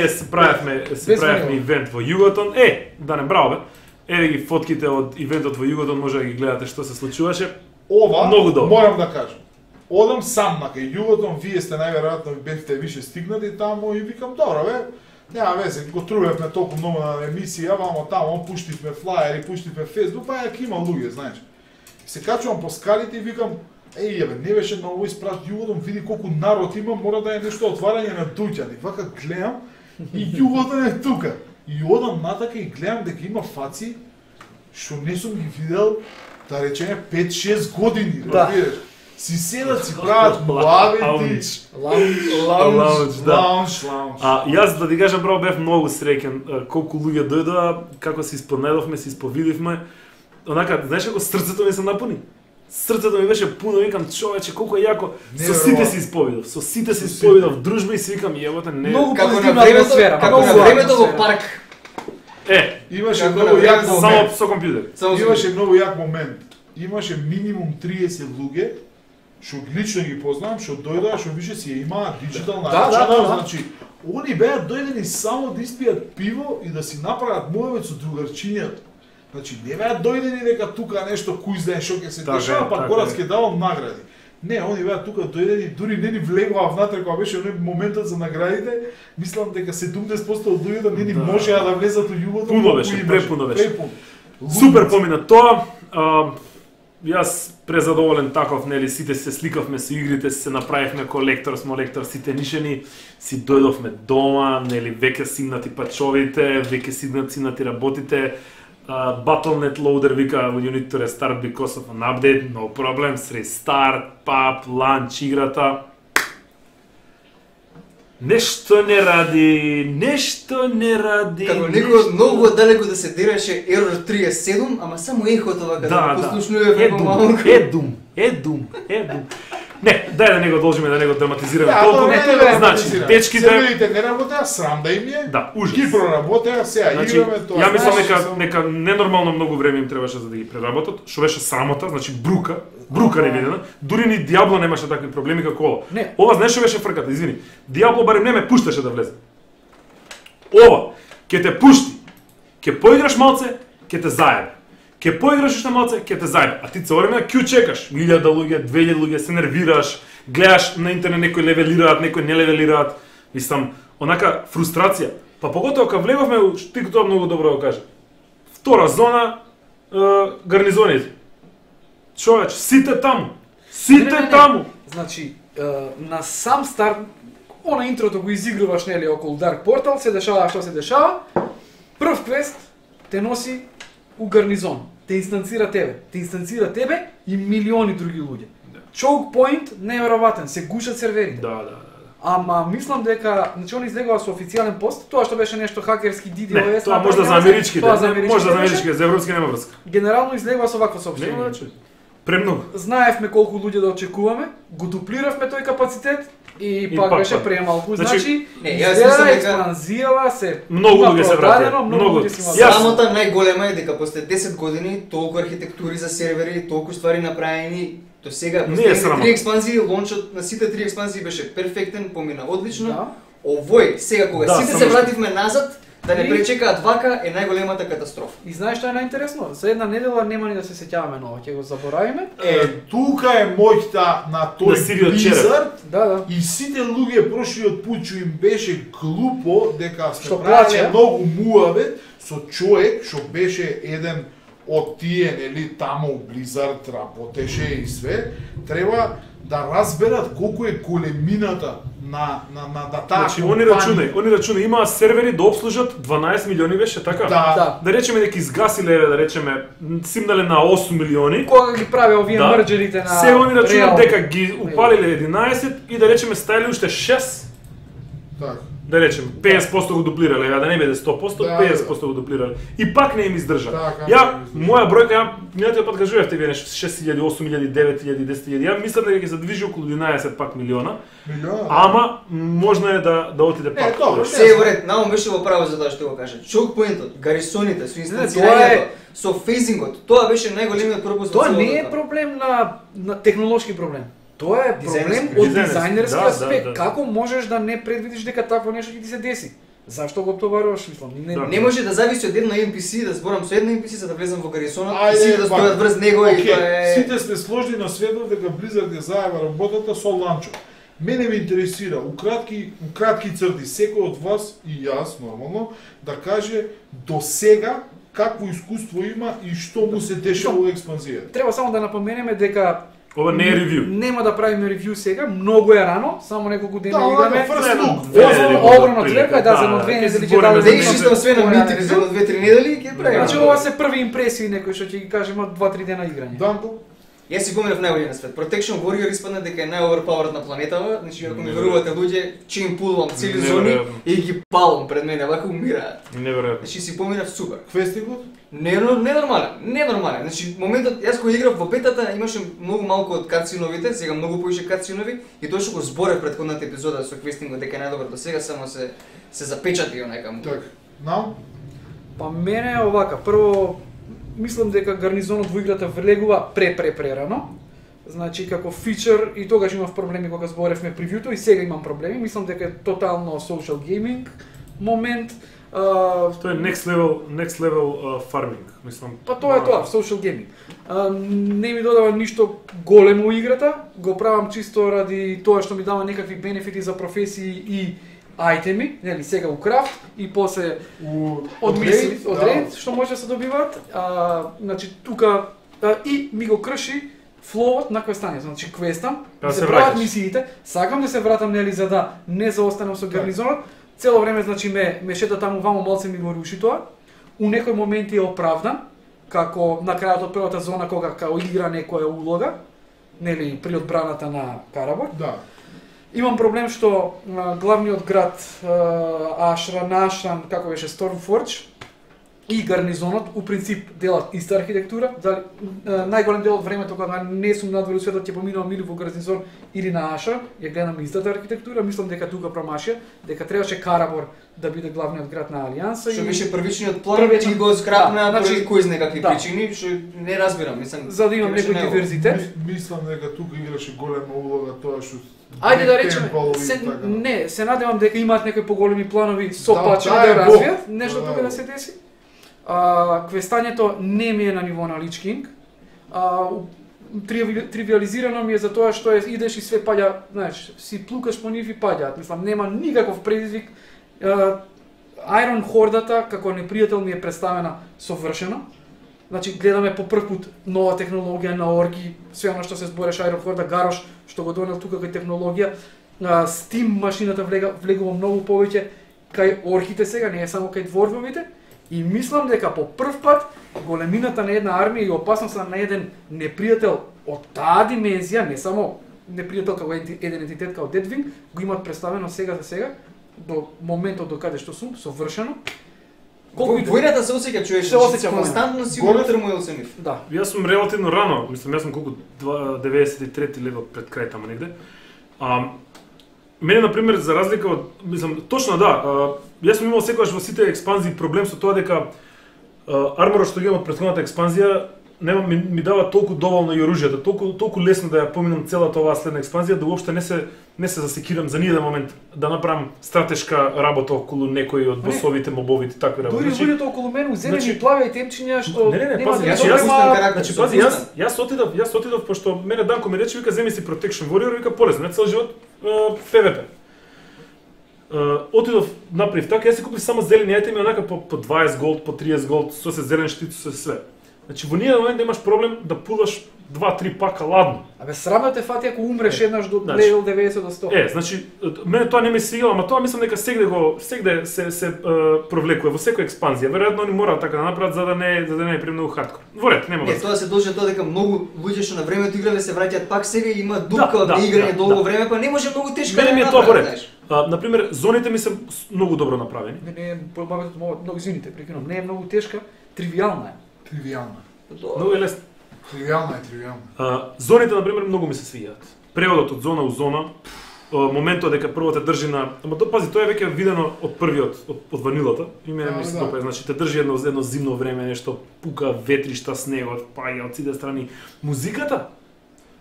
се правевме ивент во Југотон. Да не браво бе. Еве ги фотките од ивентот во Југотон, може да ги гледате што се случуваше. Ова, многу добро. Морам да кажам. Одам сам на кај Југотон, вие сте најверојатно бевте више стигнати таму и викам, добро бе, нема везе, го трувевме толку многу на емисија, вамо таму пуштивме флаери, пуштивме Facebook, па јак има луѓе, знаеш. Се качувам по скалите и викам, не беше на овој спрат Југотон, види колку народ има, мора да е нешто отварање на дуќани. Вака гледам и Југотон е тука. И одам натака и гледам дека има фаци што не сум ги видел, да речеме 5-6 години, разбираш. Си седат, си прават муавети. Лаунж, да. Лаунж. Јас да ти кажам право бев многу среќен колку луѓе дојдоа, како се испонедовме, се исповидивме. Онака, знаеш како срцето ми се напуни? Срцето ми беше пуно, викам, човече, колку е јако. Со сите се исповидов, со сите се исповидов, дружба и си викам, јеботе, не. Многу како позитивна на времето, атмосфера. како на времето во парк. Имаше многу јак само со компјутер. Имаше многу јак момент. Имаше минимум 30 луѓе што лично ги познавам, што дојдоа, што више си ја имаат диджитална рачана, значи они беа дојдени само да испијат пиво и да си направат муавет со другарчињата. Значи не беа дојдени дека тука нешто кој знае што ќе се дешава, па Горец ќе давам награди. Не, они беа тука дојдени, дури не ни влегоа внатре кога беше оној моментот за наградите. Мислам дека 70% од луѓето не ни можеа да влезат во Југотон. Пуно беше, препуно беше. Супер помина тоа. Јас презадоволен таков, нели, сите се сликавме со игрите, се направивме колектор, смолектор, сите нишени, си дојдовме дома, нели, веќе сигнати пачовите, веќе сигнати работите. Battle.net loader вика you need to restart because of an update, no problems, restart, pap, launch играта. Нешто не ради. Како некој многу далеко да се дереше Error 37, ама само ехото вака да послушнуваме како малку. Едум. Не, дај да не го должиме, да не го драматизираме толку. Значи, дечките видите, не работеа, срам да им е. Да, ужас. Ги проработеа, сега играме тоа. Ја мислам нека ненормално многу време им требаше за да ги преработат, што беше срамота, значи брука невидена. Дури ни Диабло немаше такви проблеми како ова. Ова знаеш што беше фрката, извини. Диабло барем не ме пушташе да влезе. Ова ќе те пушти. Ќе поиграш малце, ќе те заебе. Ке поиграш уште малце, ке те заебе. А ти цело време ќе чекаш. 1000 луѓе, 2000 луѓе, се нервираш, гледаш на интернет некои левелираат, некои не левелираат. Мислам, онака фрустрација. Па поготово кога влеговме, ти тоа многу добро го кажа. Втора зона, гарнизоните. Човеч, сите таму. Таму. Значи, на сам старт, она интрото го изигруваш, нели, околу Dark Portal, се дешава што се дешава. Прв квест те носи у гарнизон, те инстанцира тебе и милиони други луѓе. Choke point неверојатен, се гушат серверите. Да. Ама мислам дека, значи он излегува со официјален пост, тоа што беше нешто хакерски DDoS. Не, тоа можда за америчките, може за америчките, за европски нема врска. Генерално излегува со вакво соопштение. Премногу. Знаевме колку луѓе да очекуваме, го дуплиравме тој капацитет и пак беше премалку. Значи, јас експанзијава се многу луѓе се вратија. Многу луѓе се вратија. Самата најголема е дека после 10 години толку архитектури за сервери, толку ствари направени, до сега последните 3 експанзии, лончот на сите 3 експанзии беше перфектен, помина одлично. Да. Овој, сега кога сите се вративме назад, да не пречекаат вака е најголемата катастрофа. И знаеш што е најинтересно? За една недела нема ни да се сеќаваме ново, ќе го заборавиме. Тука е моќта на тој Blizzard. Да. И сите луѓе прошлиот пат што им беше глупо дека Што сме правеле плаче. многу муавет со човек што беше еден од тие, нели, таму у Blizzard работеше и све, треба да разберат колку е големината на таа Значи, компанија. они рачунаат, имаа сервери да обслужат 12 милиони, беше така? Да. Да речеме дека изгасиле, да речеме, симнале на 8 милиони. Кога ги праве овие Да. мрџерите на Сега они рачунаат Real. дека ги упалиле 11 и да речеме ставиле уште 6. Така. Да речеме, 50% го дуплирале, да не биде 100%, Да, 50% го дуплирале. И пак не им издржа. Така. Моја бројка, минатиот пат кажувавте вие нешто 6000, 8000, 9000, 10000. Ја мислам дека ќе се движи околу 11 пак милиона. Ама можно е да отиде пак. добро. Се е во ред, наум беше во право за тоа што го кажа. Choke point-от, гарисоните, со инстанцирањето, со фейзингот, тоа беше најголемиот пропуск. Тоа не е проблем на технолошки проблем. Тоа е проблем од дизајнерски аспект. Како можеш да не предвидиш дека такво нешто ќе ти се деси? Зашто го товаруваш, мислам? Не може да зависи од една NPC, да зборам со една NPC за да влезам во гарисонот и сите да стојат врз него и тоа е... Сите сме сложни на светот дека Blizzard ја заева работата со ланчо. Мене ме интересира, у кратки црти, секој од вас и јас, нормално, да каже до сега какво искуство има и што му се дешава во експанзијата. Треба само да напоменеме дека Ова не е ревју. Нема да правиме ревју сега, многу е рано, само неколку дена играме. Огромна тлека, да, за едно 2 недели ќе дадеме. Да ишистам све на митик за 2-3 недели и ќе правиме. Значи ова се први импресии некои што ќе ги кажеме од 2-3 дена играње. Данко? Јас си поминав најголемиот свет. Protection Warrior испадна дека е најоверпауерд на планетава, значи ако ми верувате луѓе, чим пулвам цели зони и ги палам пред мене, вака умираат. Неверојатно. Значи си поминав супер. Квестикот? Ненормален. Значи моментот јас кога играв во бетата имаше многу малку од катсиновите, сега многу повеќе катсинови и тоа што го зборев претходната епизода со квестингот дека е најдобар до сега, само се запечати онака му. Так. Нау? Па мене е овака, прво мислам дека гарнизонот во играта влегува прерано. Значи како фичер и тогаш имав проблеми кога зборевме превјуто и сега имам проблеми. Мислам дека е тотално social gaming момент. Тоа е next level farming, мислам. Па тоа е тоа, social gaming. Не ми додава ништо големо во играта, го правам чисто ради тоа што ми дава некакви бенефити за професии и айтеми, нели сега у крафт и после од рейд што може да се добиваат. Значи тука и ми го крши флоот на квестање. Значи квестам, се прават мисиите, сакам да се вратам нели за да не заостанам со гарнизонот. Цело време значи ме шета таму вамо, малце ми го руши тоа. У некои моменти е оправдан, како на крајот од првата зона кога као игра некоја улога, нели при одбраната на Карабор. Да. Имам проблем што главниот град Ашран, како беше Stormforge и гарнизонот у принцип делат иста архитектура. Дали најголем дел од времето кога не сум надвор светот ќе поминувам или во гарнизон или на Аша, ја гледам истата архитектура, мислам дека тука промашија, дека требаше Карабор да биде главниот град на Алијанса. Што беше првичниот план, и го скрапна поради кој знае какви причини, што не разбирам, мислам. За да имам некој диверзитет. Мислам дека тука играше голема улога тоа што Ајде да речеме, се надевам дека имаат некои поголеми планови со пачи да развијат, нешто тука да се деси. Квестањето не ми е на ниво на Лич Кинг. Тривиализирано ми е за тоа што идеш и све паѓа, знаеш, си плукаш по нив и паѓаат. Мислам, нема никаков предизвик. Iron Хордата како непријател ми е представена совршено. Значи гледаме по прв пат нова технологија на орки, све оно што се збореше Iron Хорда, Гарош што го донел тука кај технологија. Steam машината влегува многу повеќе кај орките сега, не е само кај дворфовите. И мислам дека по прв пат големината на една армија и опасноста на еден непријател од таа димензија, не само непријател како еден entитет како Deadwing, го имаат представено сега за сега, до моментот до каде што сум, совршено. Војната се осеќа човек, се осеќа константно си Горе- унутре му е оценив. Да. Јас сум релативно рано, мислам, јас сум колку 93 лева пред крај тама негде. Мене, например, за разлика од, мислам, точно да, јас сум имал секогаш во сите експанзии проблем со тоа дека арморот што ги имам од претходната експанзија нема ми дава толку доволно и оружјето, толку лесно да ја поминам целата оваа следна експанзија да уопште не се засекирам за ниеден момент да направам стратешка работа околу некои од босовите, мобовите, такви работи. Дури луѓето околу мене зелени значи- плави и темчиња што Не, нема пази, да значи, добрема- Значи, пази, јас отидов, пошто мене Данко ми рече, вика, земи си Protection Warrior, вика, полесно, не цел живот ПВП. Отидов, направив така, јас си купив само зелени ајтеми, онака по 20 голд, по 30 голд, со се зелен штит, со све. Значи, во ниједен момент немаш проблем да пулаш 2-3 пака ладно. Абе срамно те фати ако умреш еднаш до значи, левел 90 до 100. Значи, мене тоа не ми свигало, ама тоа мислам дека сегде се провлекува во секоја експанзија. Веројатно они мораат така да направат за да не е премногу хардкор. Во ред, нема Не, врска. тоа се должи тоа дека многу луѓе што на времето играле се враќаат пак сега и има дупка од Да, играње да, долго да. време, па не може многу тешко Мене ми е да тоа во ред. знаеш. Например, зоните ми се многу добро направени. Не е многу извините, прекинувам. Не е многу тешка, тривијална е. Тривијална. Многу е лесно. Тривијална. Зоните, например, многу ми се свијаат. Преводот од зона у зона, моментот дека прво те држи на, ама пази, тоа е веќе видено од првиот, од ванилата. И мене ми се да. допаѓа, значи те држи едно зимно време, нешто пука, ветришта, снегот, паѓа од сите страни. Музиката,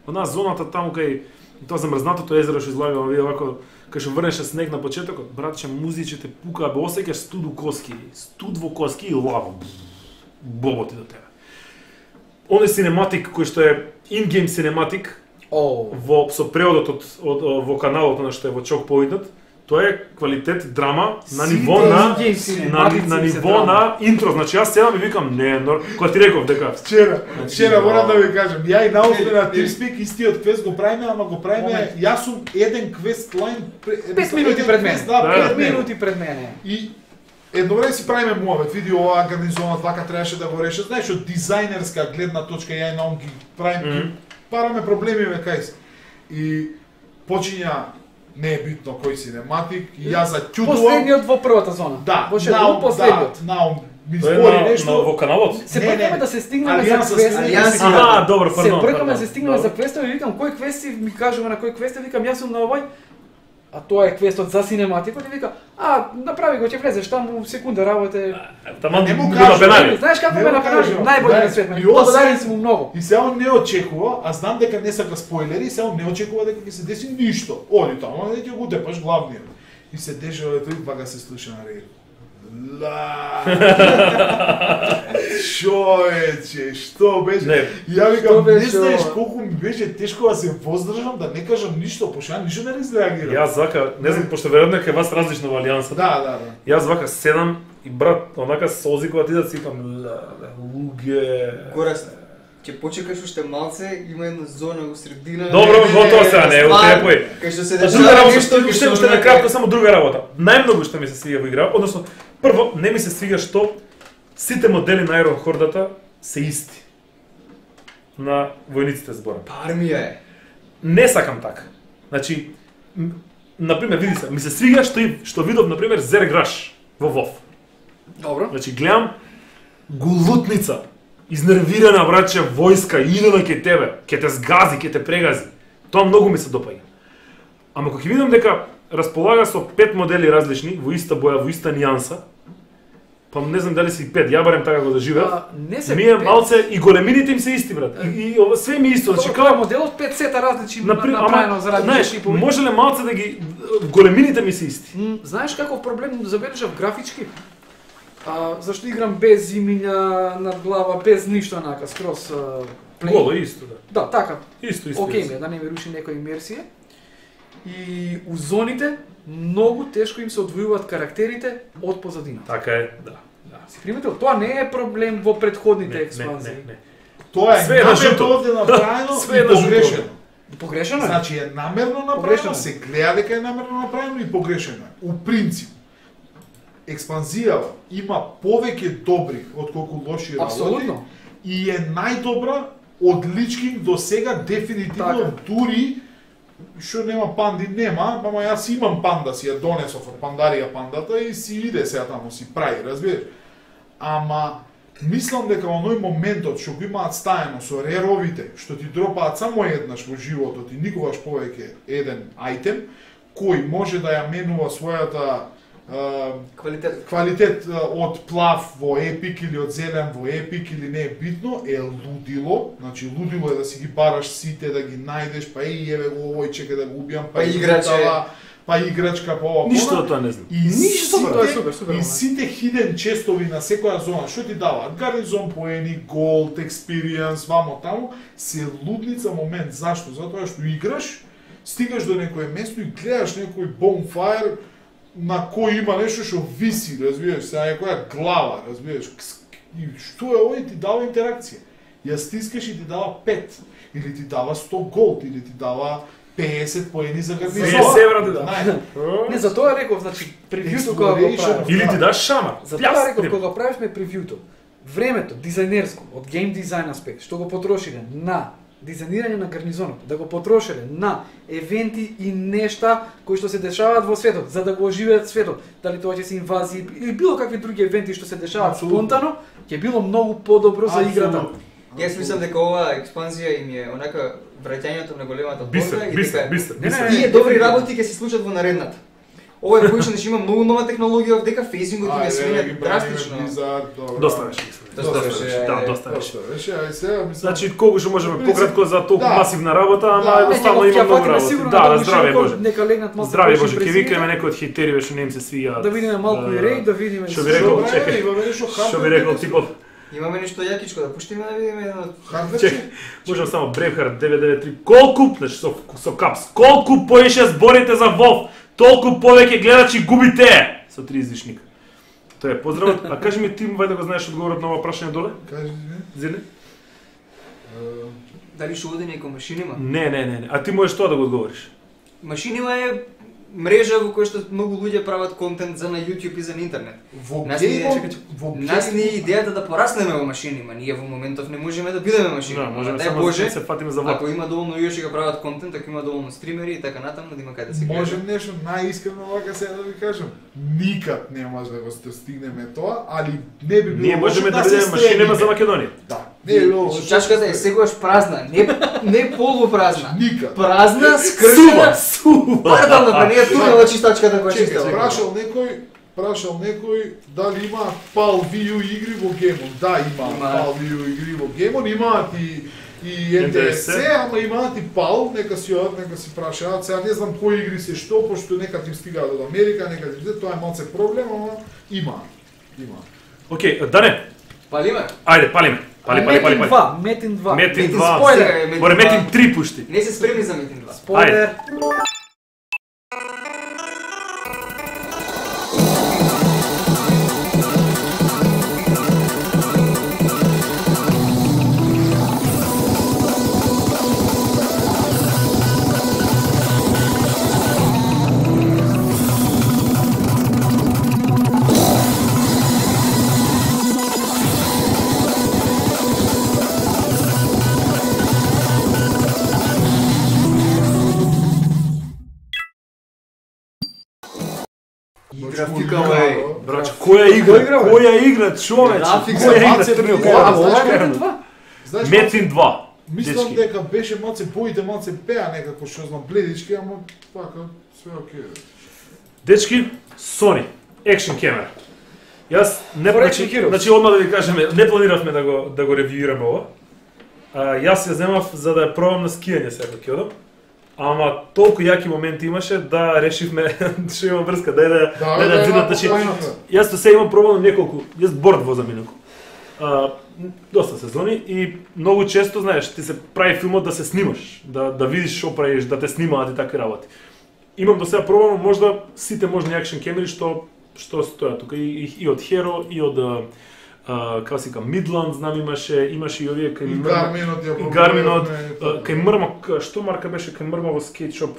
онаа зоната таму кај тоа замрзнатото езеро што излагаме, види овако, кај што врнеше снег на почетокот, братче, музичите пука, бе осеќаш студ во коски и лава. Боботи до тебе. Оној синематик кој што е in-game синематик со преводот во каналот на што е во Чок повиднат, тоа е квалитет драма на ниво на ниво на интро. Значи јас седам и викам не, кога ти реков дека Вчера морам да ви кажам, ја и научно на TeamSpeak истиот квест го правиме, ама го правиме, јас сум еден квест лайн 5 минути пред мене. Да, 5 5 минути пред мене. И едно време си правиме муавет, види оваа гарнизонот вака требаше да го реше. Знаеш, од дизајнерска гледна точка ја и наум ги правиме, параме проблеми ве кај се. И почиња не е битно кој синематик, и јас заќутувам. Последниот во првата зона. Да, Во шедум последниот. наум ми тоа збори е нешто. во каналот. Се Не, бркаме не. да се стигнеме за Алијанса квест. Алијанса. Добро, Се пардон. бркаме да се стигнеме за квестот и викам кој квести ми кажува на кој квест, викам јас сум на овој. А тоа е квестот за синематикот и вика, направи го, ќе влезеш таму секунда работе. Таман Не му го кажу, напенари. Знаеш како Не ме го направи? кажувам. Најбољи на Знаеш, свет. и Благодарен сум му многу. И се он не очекува, а знам дека не сака спойлери, и се он не очекува дека ќе се деси ништо. Оди таму, а ќе го депаш главниот. И се дешава тој пака се слуша на рејд. Ла. Човече, што беше? Не. Ја Што викам, не беше знаеш ова? колку ми беше тешко да се воздржам, да не кажам ништо, пошто ја ништо не изреагирам. Јас вака, не знам, пошто веројатно е вас различно во Алијанса. Да. Јас вака седам и брат, онака солзи кога ти да си викам, луѓе. Гораст, ќе почекаш уште малце, има една зона во средина. Добро, готово сега, не утрепој. Кај што се Друга дешава работа, нешто, уште на кратко само друга работа. Најмногу што ми се свиѓа во игра, односно прво не ми се свиѓа што сите модели на Iron Horde-та се исти. На војниците зборам. Армија е. Не сакам така. Значи, например, види се, ми се свиѓа што видов например Зерграш во WoW. Добро. Значи гледам гулутница, изнервирана браќа војска, идена кај тебе, ќе те згази, ќе те прегази. Тоа многу ми се допаѓа. Ама кога ќе видам дека располага со 5 модели различни, во иста боја, во иста нијанса, па не знам дали си 5, ја барем така го доживеав. Не се Ми е малце и големините им се исти брат. И ова све ми е исто, значи Тоа е како моделот 5 сета различни например, направено заради знаеш, шипови. може ли малце да ги големините ми се исти? Знаеш како проблем забележав графички? Зашто играм без имиња над глава, без ништо онака, скроз плей. Голо исто да. Да, така. Исто. Океј ми е, да не ми руши некоја имерсија. И у зоните многу тешко им се одвојуваат карактерите од позадина. Така е, да. Си приметил, тоа не е проблем во предходните експанзии. Не. Тоа е Све е на жуто. намерно овде направено Све е и на жуто. погрешено. Погрешено е? Значи е намерно направено, Погрешено е. се гледа дека е намерно направено и погрешено е. У принцип, експанзијава има повеќе добри отколку лоши работи. Апсолутно. И е најдобра од Lich King до сега дефинитивно, Така. дури што нема панди нема, ама јас имам панда, си ја донесов од пандарија пандата и си иде сега таму си прави, разбираш? ама мислам дека оној моментот што го имаат стаено со реровите, што ти дропаат само еднаш во животот и никогаш повеќе еден ајтем, кој може да ја менува својата квалитет од плав во епик или од зелен во епик или не е битно, е лудило. Значи лудило е да си ги бараш сите, да ги најдеш, па и еве го овој чека да го убијам, па играчка, па ова. Ништо тоа не знам. Тоа е супер. И сите хиден честови на секоја зона, што ти даваат? Гарнизон поени, голд, експириенс, вамо таму, се лудница момент. Зашто? Затоа што играш, стигаш до некое место и гледаш некој bonfire на кој има нешто што виси, разбираш, се некоја глава, разбираш. И што е овој, ти дава интеракција. Ја стискаш и ти дава 5, или ти дава 100 голд, или ти дава 50 поени за гарнизон. Не, за тоа реков, значи, превјуто кога го правиш. Или ти даш шамар. За тоа реков, кога правишме превјуто, времето, дизајнерско, од гейм дизајн аспект, што го потрошиле на дизајнирање на гарнизонот, да го потрошиле на евенти и нешта кои што се дешаваат во светот, за да го оживеат светот, дали тоа ќе се инвазии или било какви други евенти што се дешаваат спонтано, ќе било многу подобро за играта. Јас мислам дека оваа експанзија им е онака враќањето на големата борба и дека тие добри работи ќе се случат во наредната. Ова е појшен што има многу нова технологија, дека фейзингот им е сменет драстично. Доста беше. Доста беше. Ај сега мислам. Значи колку што можеме пократко за толку масивна работа, ама едноставно има многу работи. Да, здраве Боже. Нека легнат малку. Здраве Боже, ќе викаме некој од хейтери што не им се свија. Да видиме малку и рейд, да видиме што би рекол, чекај. Што би рекол типот? Имаме нешто јакичко да пуштиме да видиме едно. Чекај, можам само Braveheart 993. Колку, значи со капс, колку поише зборите за WoW, толку повеќе гледачи губите со 3 излишник. Тоа е поздравот. А кажи ми ти, вајде го знаеш одговорот на ова прашање доле? Кажи ми. Зеле? Дали што оди некој машинима? Не. А ти можеш тоа да го одговориш. Машинима е мрежа во која што многу луѓе прават контент за на YouTube и за на интернет. Нас ни е идејата да пораснеме во машинима. Ние во моментов не можеме да бидеме машинима. Да, можеме само да се фатиме за влак. Ако има доволно јоши да прават контент, ако има доволно стримери и така натаму, да има каде да се гледа. Можем нешто најискрено вака сега да ви кажам. Никад не може да го стигнеме тоа, али не би било. Ние можеме да бидеме машинима за Македонија. Да. Не е било. Чашката е секогаш празна, не полупразна. Никад. Празна, скршена. Сува. Пардон, да не е турнала чистачката која чиста. Прашал некој дали има PAL VU игри во геймон. Да, има PAL VU игри во геймон, имаат и НДС, ама имаат и PAL, нека си прашаат. Сега не знам кои игри се што, пошто некад им стигаат од Америка, некад им тоа е малце проблем, ама има. Океј, Дане. Палиме? Ајде, палиме. Пали. Метин 2. Метин 2. Море Метин 3 пушти. Не се спремни за Метин 2. Спойлер. Брач, која игра, човече? Метин 2. Мислам дека беше малце боите, малце пеа некако, што знам, бледички, ама пака, све окей. Дечки, Sony, екшн камера. Јас не значи одма да ви кажеме, не планиравме да го ревјуираме ова. Јас ја земав за да ја пробам на скијање сега ќе одам. Ама толку јаки моменти имаше да решивме што има врска, дај да зидат, значи јас се имам пробано неколку, јас борд возам инаку. Доста сезони и многу често, знаеш, ти се прави филмот да се снимаш, да видиш што правиш, да те снимаат и такви работи. Имам до сега пробано можда сите можни акшн камери што стојат тука и од Hero и од како се вика Midland, знам имаше и овие кај Гарминот, кај Мрма, што марка беше кај Мрма во скейтшоп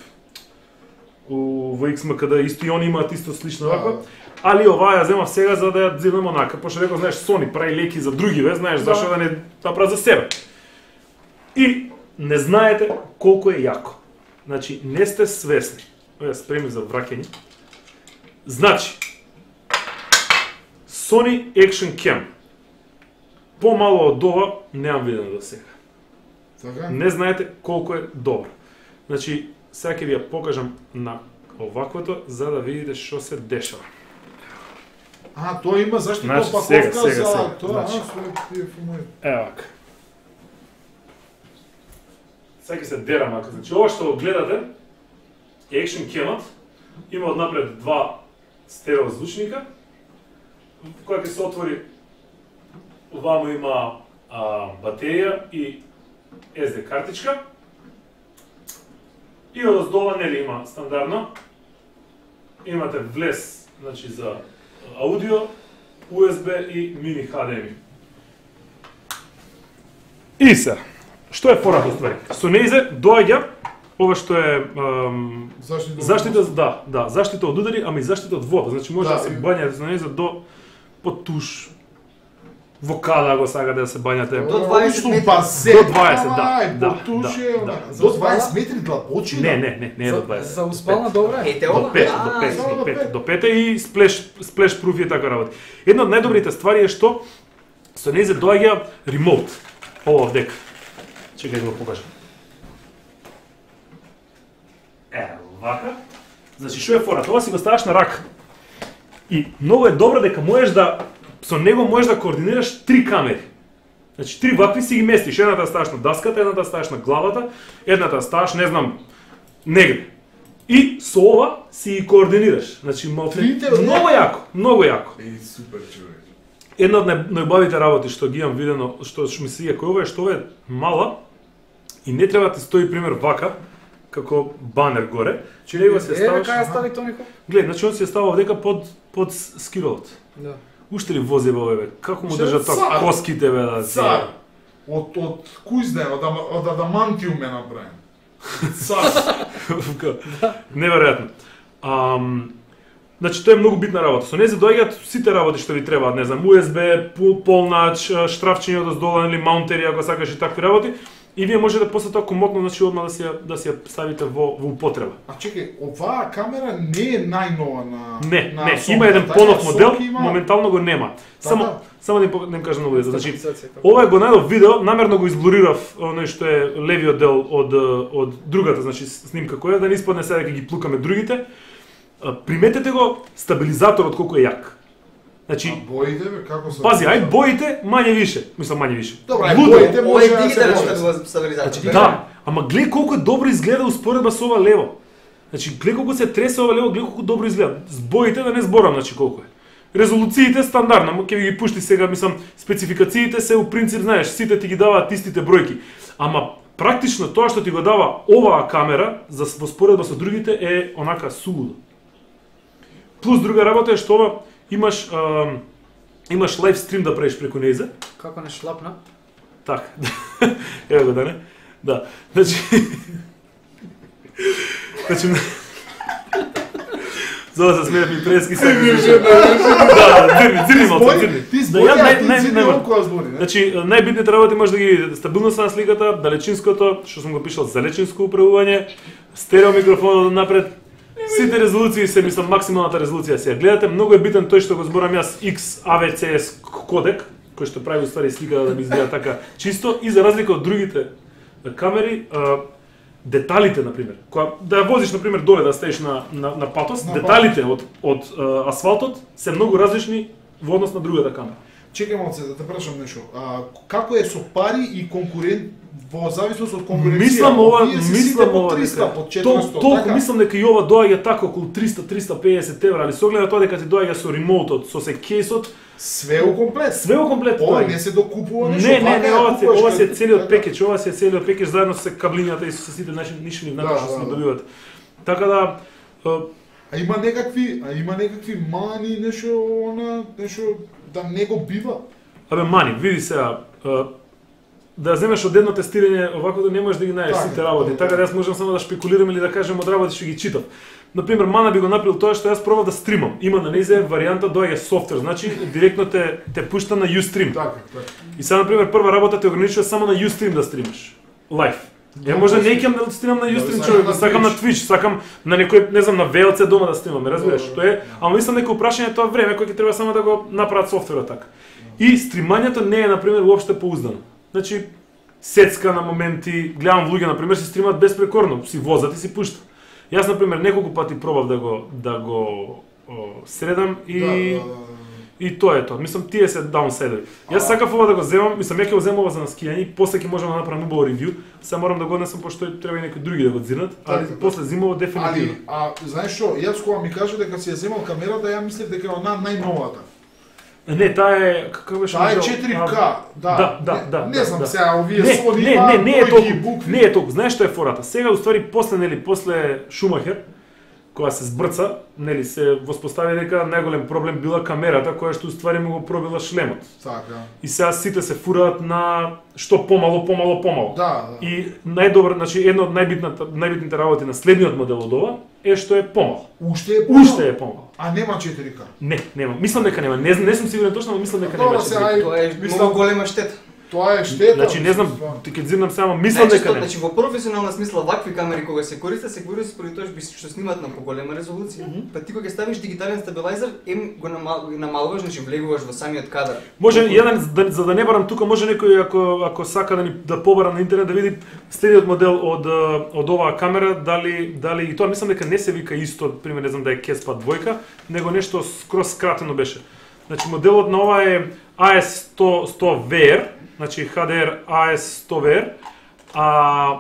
во XMKD, исто и они имаат исто слично ваква. Али оваа ја земав сега за да ја зелем онака, пошто реков, знаеш, Sony прави леки за други, знаеш, зашто да не направи за себе. И не знаете колку е јако. Значи, не сте свесни. Ја спремни за враќање. Значи, Sony Action Cam. Помало од ова немам видено до сега. Така? Не знаете колку е добро. Значи, сега ќе ви ја покажам на оваквото за да видите што се дешава. Тоа има заштитна Значи, опаковка сега, за тоа, значи. тие филмови. Ево вака. Сега ќе се дерам ака. Значи, ова што го гледате, Action Cam-от, има однапред два стерео звучника, која ќе се отвори, овамо има батерија и SD картичка, и одоздола нели има стандардно, имате влез, значи за аудио, USB и мини HDMI. И се, што е фората ствари? Со неизе доаѓа ова што е заштита, заштита од удари, ама и заштита од вода. Значи може да се бањате со неизе до под туш. Вокала го сакате да се бањате. До 20 метри. До 20, да. До 20 метри длабочина? Не е до 20. За успална добра е. До 5 и сплеш пруф и така работи. Една од најдобрите ствари е што со неизе доаѓа ремоут. Ова овдека. Чекај да го покажам. Вака. Значи што е фората? Ова си го ставаш на рака. И многу е добро дека можеш да со него можеш да координираш 3 камери. Значи 3 вакви си ги местиш. Едната ставаш на даската, едната ставаш на главата, едната ставаш, не знам, негде. И со ова си ги координираш. Значи многу јако. Супер човек. Една од најубавите работи што ги имам видено, што ми се кој ова е што е мала и не треба да ти стои пример вака како банер горе. Него се ставаш. Кај стави Тонико? Глед, значи он се става овдека под скиролот. Да. Уште ли вози бе, како му држат тоа коските бе да се. Од кој знае, од адамантиум е направен. Цар. Неверојатно. Значи тоа е многу битна работа. Со незе доаѓаат сите работи што ви требаат, не знам, USB, полнач, штрафчење одоздола или маунтери ако сакаш и такви работи. И вие можете после тоа комотно, значи одма да си ја ставите во употреба. А чекај, оваа камера не е најнова на Не, Sony, има еден така, понов модел, Sony има... моментално го нема. Само да им кажам на луѓето. Значи, Стабилизација, ова е го најдов видео, намерно го изблурирав оној што е левиот дел од другата, значи снимка која да не испадне сега дека ги плукаме другите. Приметете го стабилизаторот колку е јак. Значи, боите бе, како се... Пази, ај боите мање више, мислам мање више. Добра, боите Ова може е да се дигитална бои. стабилизација. Да, ама гледај колку е добро изгледа успоредба со ова лево. Значи, гледај колку се тресе ова лево, гледај колку добро изгледа. С боите да не зборам, значи колку е. Резолуциите стандардно, ќе ви ги пушти сега, мислам, спецификациите се у принцип, знаеш, сите ти ги даваат истите бројки. Ама практично тоа што ти го дава оваа камера за во споредба со другите е онака сулудо. Плюс друга работа е што ова имаш лайв стрим да правиш преку нејзе. Како не шлапна? Так. Ево го да не. Да. Значи за да се смеев ми прески се. Да, дзирни малку, дзирни. Ти збори, ти дзирни около збори. Значи, најбитните работи може да ги видите стабилноста на сликата, далечинското, што сум го пишал залечинско управување, стерео микрофонот напред. Сите резолуции се, мислам, максималната резолуција се ја гледате. Многу е битен тој што го зборам јас XAVCS кодек, кој што прави уствари сликата да би изгледа така чисто и за разлика од другите камери, деталите, например, кога да ја возиш, например, доле да стоиш на патос, деталите од асфалтот се многу различни во однос на другата камера. Чекај малце да те прашам нешто. Како е со пари и конкурент во зависност од конкуренција? Мислам ова, по 300, по 400, толку така? мислам дека и ова доаѓа така околу 300-350 евра, али со оглед на тоа дека ти доаѓа со ремоутот, со се кейсот, све у комплет. Све у комплет. Ова не се докупува нешто. Не, ова се целиот пекеջ, ова се целиот пекеջ заедно со каблињата и со сите нишни внака што се добиваат. Така да А има некакви мани, нешто да не го бива. Абе мани, види сега, да земеш од едно тестирање, овако да не можеш да ги најдеш сите работи. Така да јас можам само да шпекулирам или да кажем од работи што ги читав. Например, мана би го направил тоа што јас пробав да стримам. Има на нејзе варијанта доаѓа софтвер, значи директно те пушта на Ustream. Така. И сега например прва работа те ограничува само на Ustream да стримаш. Лайв. Ја може не ќе да стримам на Ustream човек, да сакам на Twitch, сакам на некој, не знам, на VLC дома да стримам, разбираш, тоа е, ама мислам дека прашање тоа време кој ќе треба само да го направат софтверот така. И стримањето не е на пример уопште поуздано. Значи сецка на моменти, гледам луѓе на пример се стримаат безпрекорно, си возат и си пуштат. Јас на пример неколку пати пробав да го средам и тоа е тоа. Мислам тие се даунсайдери. Јас сакав ова да го земам, мислам ја ќе го земам ова за на скијање и после ќе можам да направам убаво ревју. Сега морам да го однесам пошто треба и некои други да го дзирнат, али после зимово дефинитивно. Знаеш што, јас кога ми кажа дека си ја земал камерата, ја мислев дека е она најновата. Не, таа е како беше? Таа е 4K, да. Не знам сега, овие Sony не е толку. Знаеш што е фората? Сега уствари после Шумахер, кога се збрца, нели се воспостави дека најголем проблем била камерата која што уствари му го пробила шлемот. Така. И сега сите се фураат на што помало. Да. И најдобро, значи едно од најбитните работи на следниот модел од ова е што е помал. Уште е помал. А нема 4K. Нема. Мислам дека нема. Не сум сигурен точно, но мислам дека нема 4K. Тоа е многу голема штета. Тоа е штета. Значи не знам, ти ќе дзирнам само, мислам дека не. Значи во професионална смисла вакви камери кога се користат според тоа што снимаат на поголема резолуција. Па ти кога ќе ставиш дигитален стабилайзер, го намалуваш, значи влегуваш во самиот кадар. Може еден за да не барам тука, може некој ако сака да побара на интернет да види следниот модел од оваа камера, дали и тоа мислам дека не се вика исто, пример не знам да е Kespa 2, него нешто скроз скратено беше. Значи моделот на ова е AS100VR, значи HDR AS100VR, а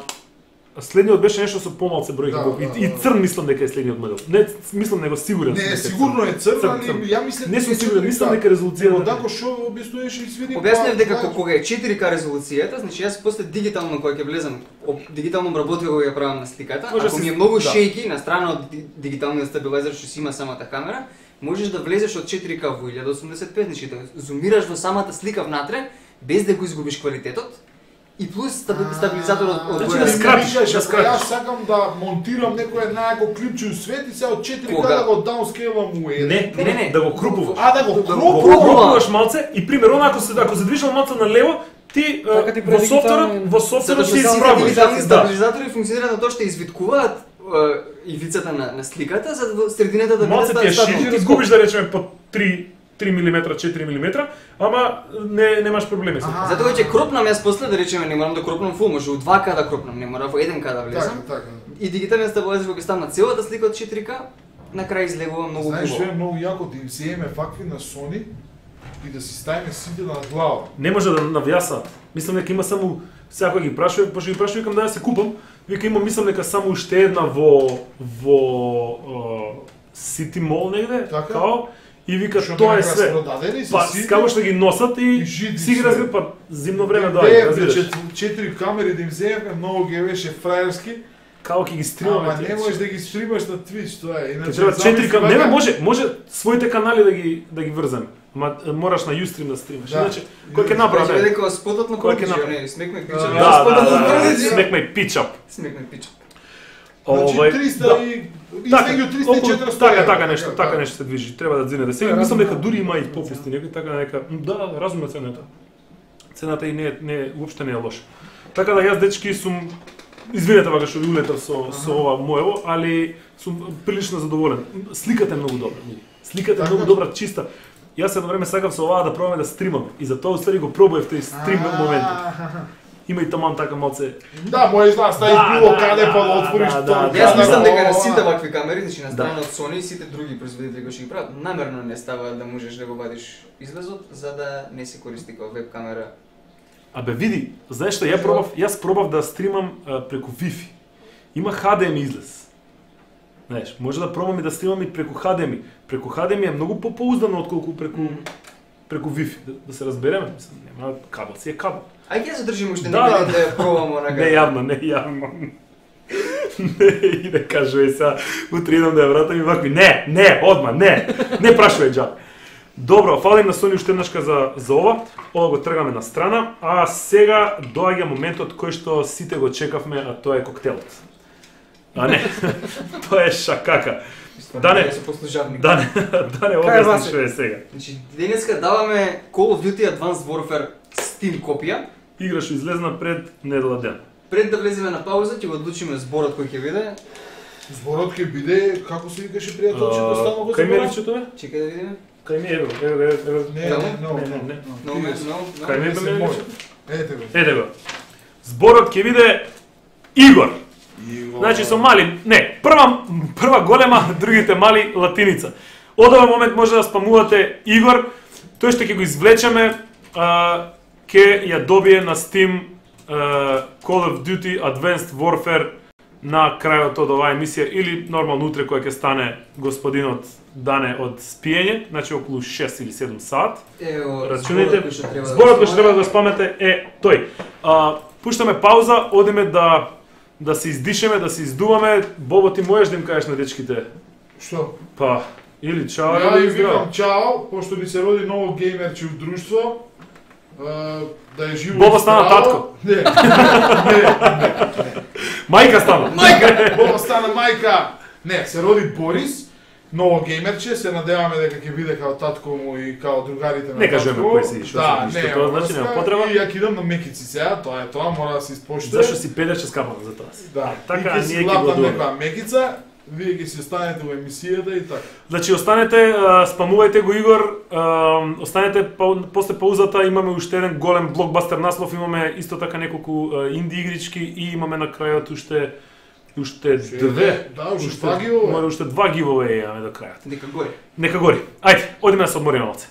следниот беше нешто со помалце бројки. И црн мислам дека е следниот модел. Не мислам него сигурен. Не, сигурно е црн, али ја мислам не сум сигурен, мислам дека резолуцијата. Одако што објаснуваш и свиди. Објаснив дека кога е 4K резолуцијата, значи јас после дигитално кога ќе влезам, дигитално обработка кога ја правам на сликата, ако ми е многу шејки на страна од дигиталниот стабилайзер што си има самата камера, можеш да влезеш од 4K во 1085, значи да зумираш во самата слика внатре без да го изгубиш квалитетот. И плюс стабилизаторот од да скратиш. Јас сакам да монтирам некој најако клипче у свет и сега од 4K да го даунскейлам у 1. Не, да го крупуваш. Да го крупуваш малце и примерно ако се движиш малце на лево, ти во софтверот си исправуваш. Стабилизатори функционираат на тоа што извиткуваат ивицата на сликата за да средината да биде стабилно. Малце ти е изгубиш да речеме по 3 мм, 4 мм, ама немаш проблеми со тоа. Затоа ќе кропнам јас после да речеме не морам да кропнам фул, може у 2K да кропнам, не мора во 1K да влезам. Така. И дигиталниот стабилизатор кога ќе ставам на целата слика од 4K, на крај излегува многу убаво. Знаеш што е многу јако да им земеме факви на Sony и да си ставиме сите на глава. Не може да навјасаат. Мислам дека има само секој ги прашува, пошто ги прашува викам да се купам. Вика има мислам дека само уште една во City Mall негде, као и вика тоа е све. Па како што ги носат и си ги разбира, па зимно време доаѓа, разбираш. 4 камери да им земеме, многу ги беше фраерски. Како ќе ги стримаме? Ама не можеш да ги стримаш на Twitch, тоа е. Иначе треба 4 камери. Не, може своите канали да ги врземе. Ама мораш на Ustream да стримаш. Иначе кој ќе направи? Ќе дека спотот на кој смекме пичап. Да, смекме пичап. Смекме пичап. Значи 300 и измеѓу 300 и 400. Така нешто се движи. Треба да дзине. Сега мислам дека дури има и попусти некои така нека. Да, разумна цената. Цената и не уопште не е лоша. Така да јас дечки сум извинете вака што ви улетав со ова моево, али сум прилично задоволен. Сликата е многу добра. Сликата е многу добра, чиста. Јас едно време сакав со оваа да пробаме да стримаме и затоа уствари го пробував тој стрим моментот. Има и таман така малце. Да, може да стаи било каде па да отвориш тоа. Јас мислам дека на сите вакви камери, значи на страна од Sony и сите други производители кои ќе ги прават, намерно не става да можеш да го вадиш излезот за да не се користи како веб камера. Абе види, знаеш што јас пробав да стримам преку Wi-Fi. Има HDMI излез. Знаеш, може да пробам и да стримам и преку HDMI. Преку HDMI е многу попоуздано отколку преку Wi-Fi, да се разбереме. Нема кабел, си е кабел. Ај ќе задржиме уште некој ден да ја пробамо на кабел. Не јавно. И да кажува сега, утре идам да ја вратам и вакви, не, одма, не прашувај џабе. Добро, фалим на Сони уште еднашка за ова. Ова го тргаме на страна, а сега доаѓа моментот кој што сите го чекавме, а тоа е коктелот. А не, тоа е шакака. Дане објасни што е сега. Значи, денеска даваме Call of Duty Advanced Warfare Steam копија. Игра што излезна пред недела ден. Пред да влеземе на пауза, ќе го одлучиме зборот кој ќе биде. Зборот ќе биде, како се викаше пријателчето, ставно го Кај ме заборав? речето бе? Чекај да видиме. Кај ме, ево. Не, No. Кај ме бе речето? Ете го. Ете го. Зборот ќе биде Игор. Значи со мали, не, прва голема, другите мали латиница. Од овој момент може да спамувате Игор, тој што ќе го извлечеме, ќе ја добие на Steam Call of Duty Advanced Warfare на крајот од оваа емисија или нормално утре кога ќе стане господинот Дане од спиење, значи околу 6 или 7 саат. Ево, Рачунајте, зборот кој што треба да го спамете е тој. Пуштаме пауза, одиме да се издишеме, да се издуваме. Бобо, ти можеш да им кажеш на дечките? Што? Па, или чао, Ја или ви здраво. викам чао, пошто ни се роди ново геймерче у друштво. Да е живо. Бобо и стана здраво. татко. Не. Мајка стана. Бобо стана мајка. Не, се роди Борис. Ново геймерче, се надеваме дека ќе биде као татко му и као другарите на Не кажеме татко. кој си, што Да, си, не, тоа значи нема потреба. И ја кидам на мекици сега, тоа е тоа, мора да се испоштува. Зашто си педеше скапано за тоа си? Да, Така, и ќе си ние ќе го лапнам одуваме. некоја мекица, вие ќе си останете во емисијата и така. Значи останете, спамувајте го Игор, останете после паузата, имаме уште еден голем блокбастер наслов, имаме исто така неколку инди игрички и имаме на крајот уште две. Да, уште два giveaway. Може уште два giveaway имаме до крајот. Нека гори. Нека гори. Ајде, одиме да се одмориме малце.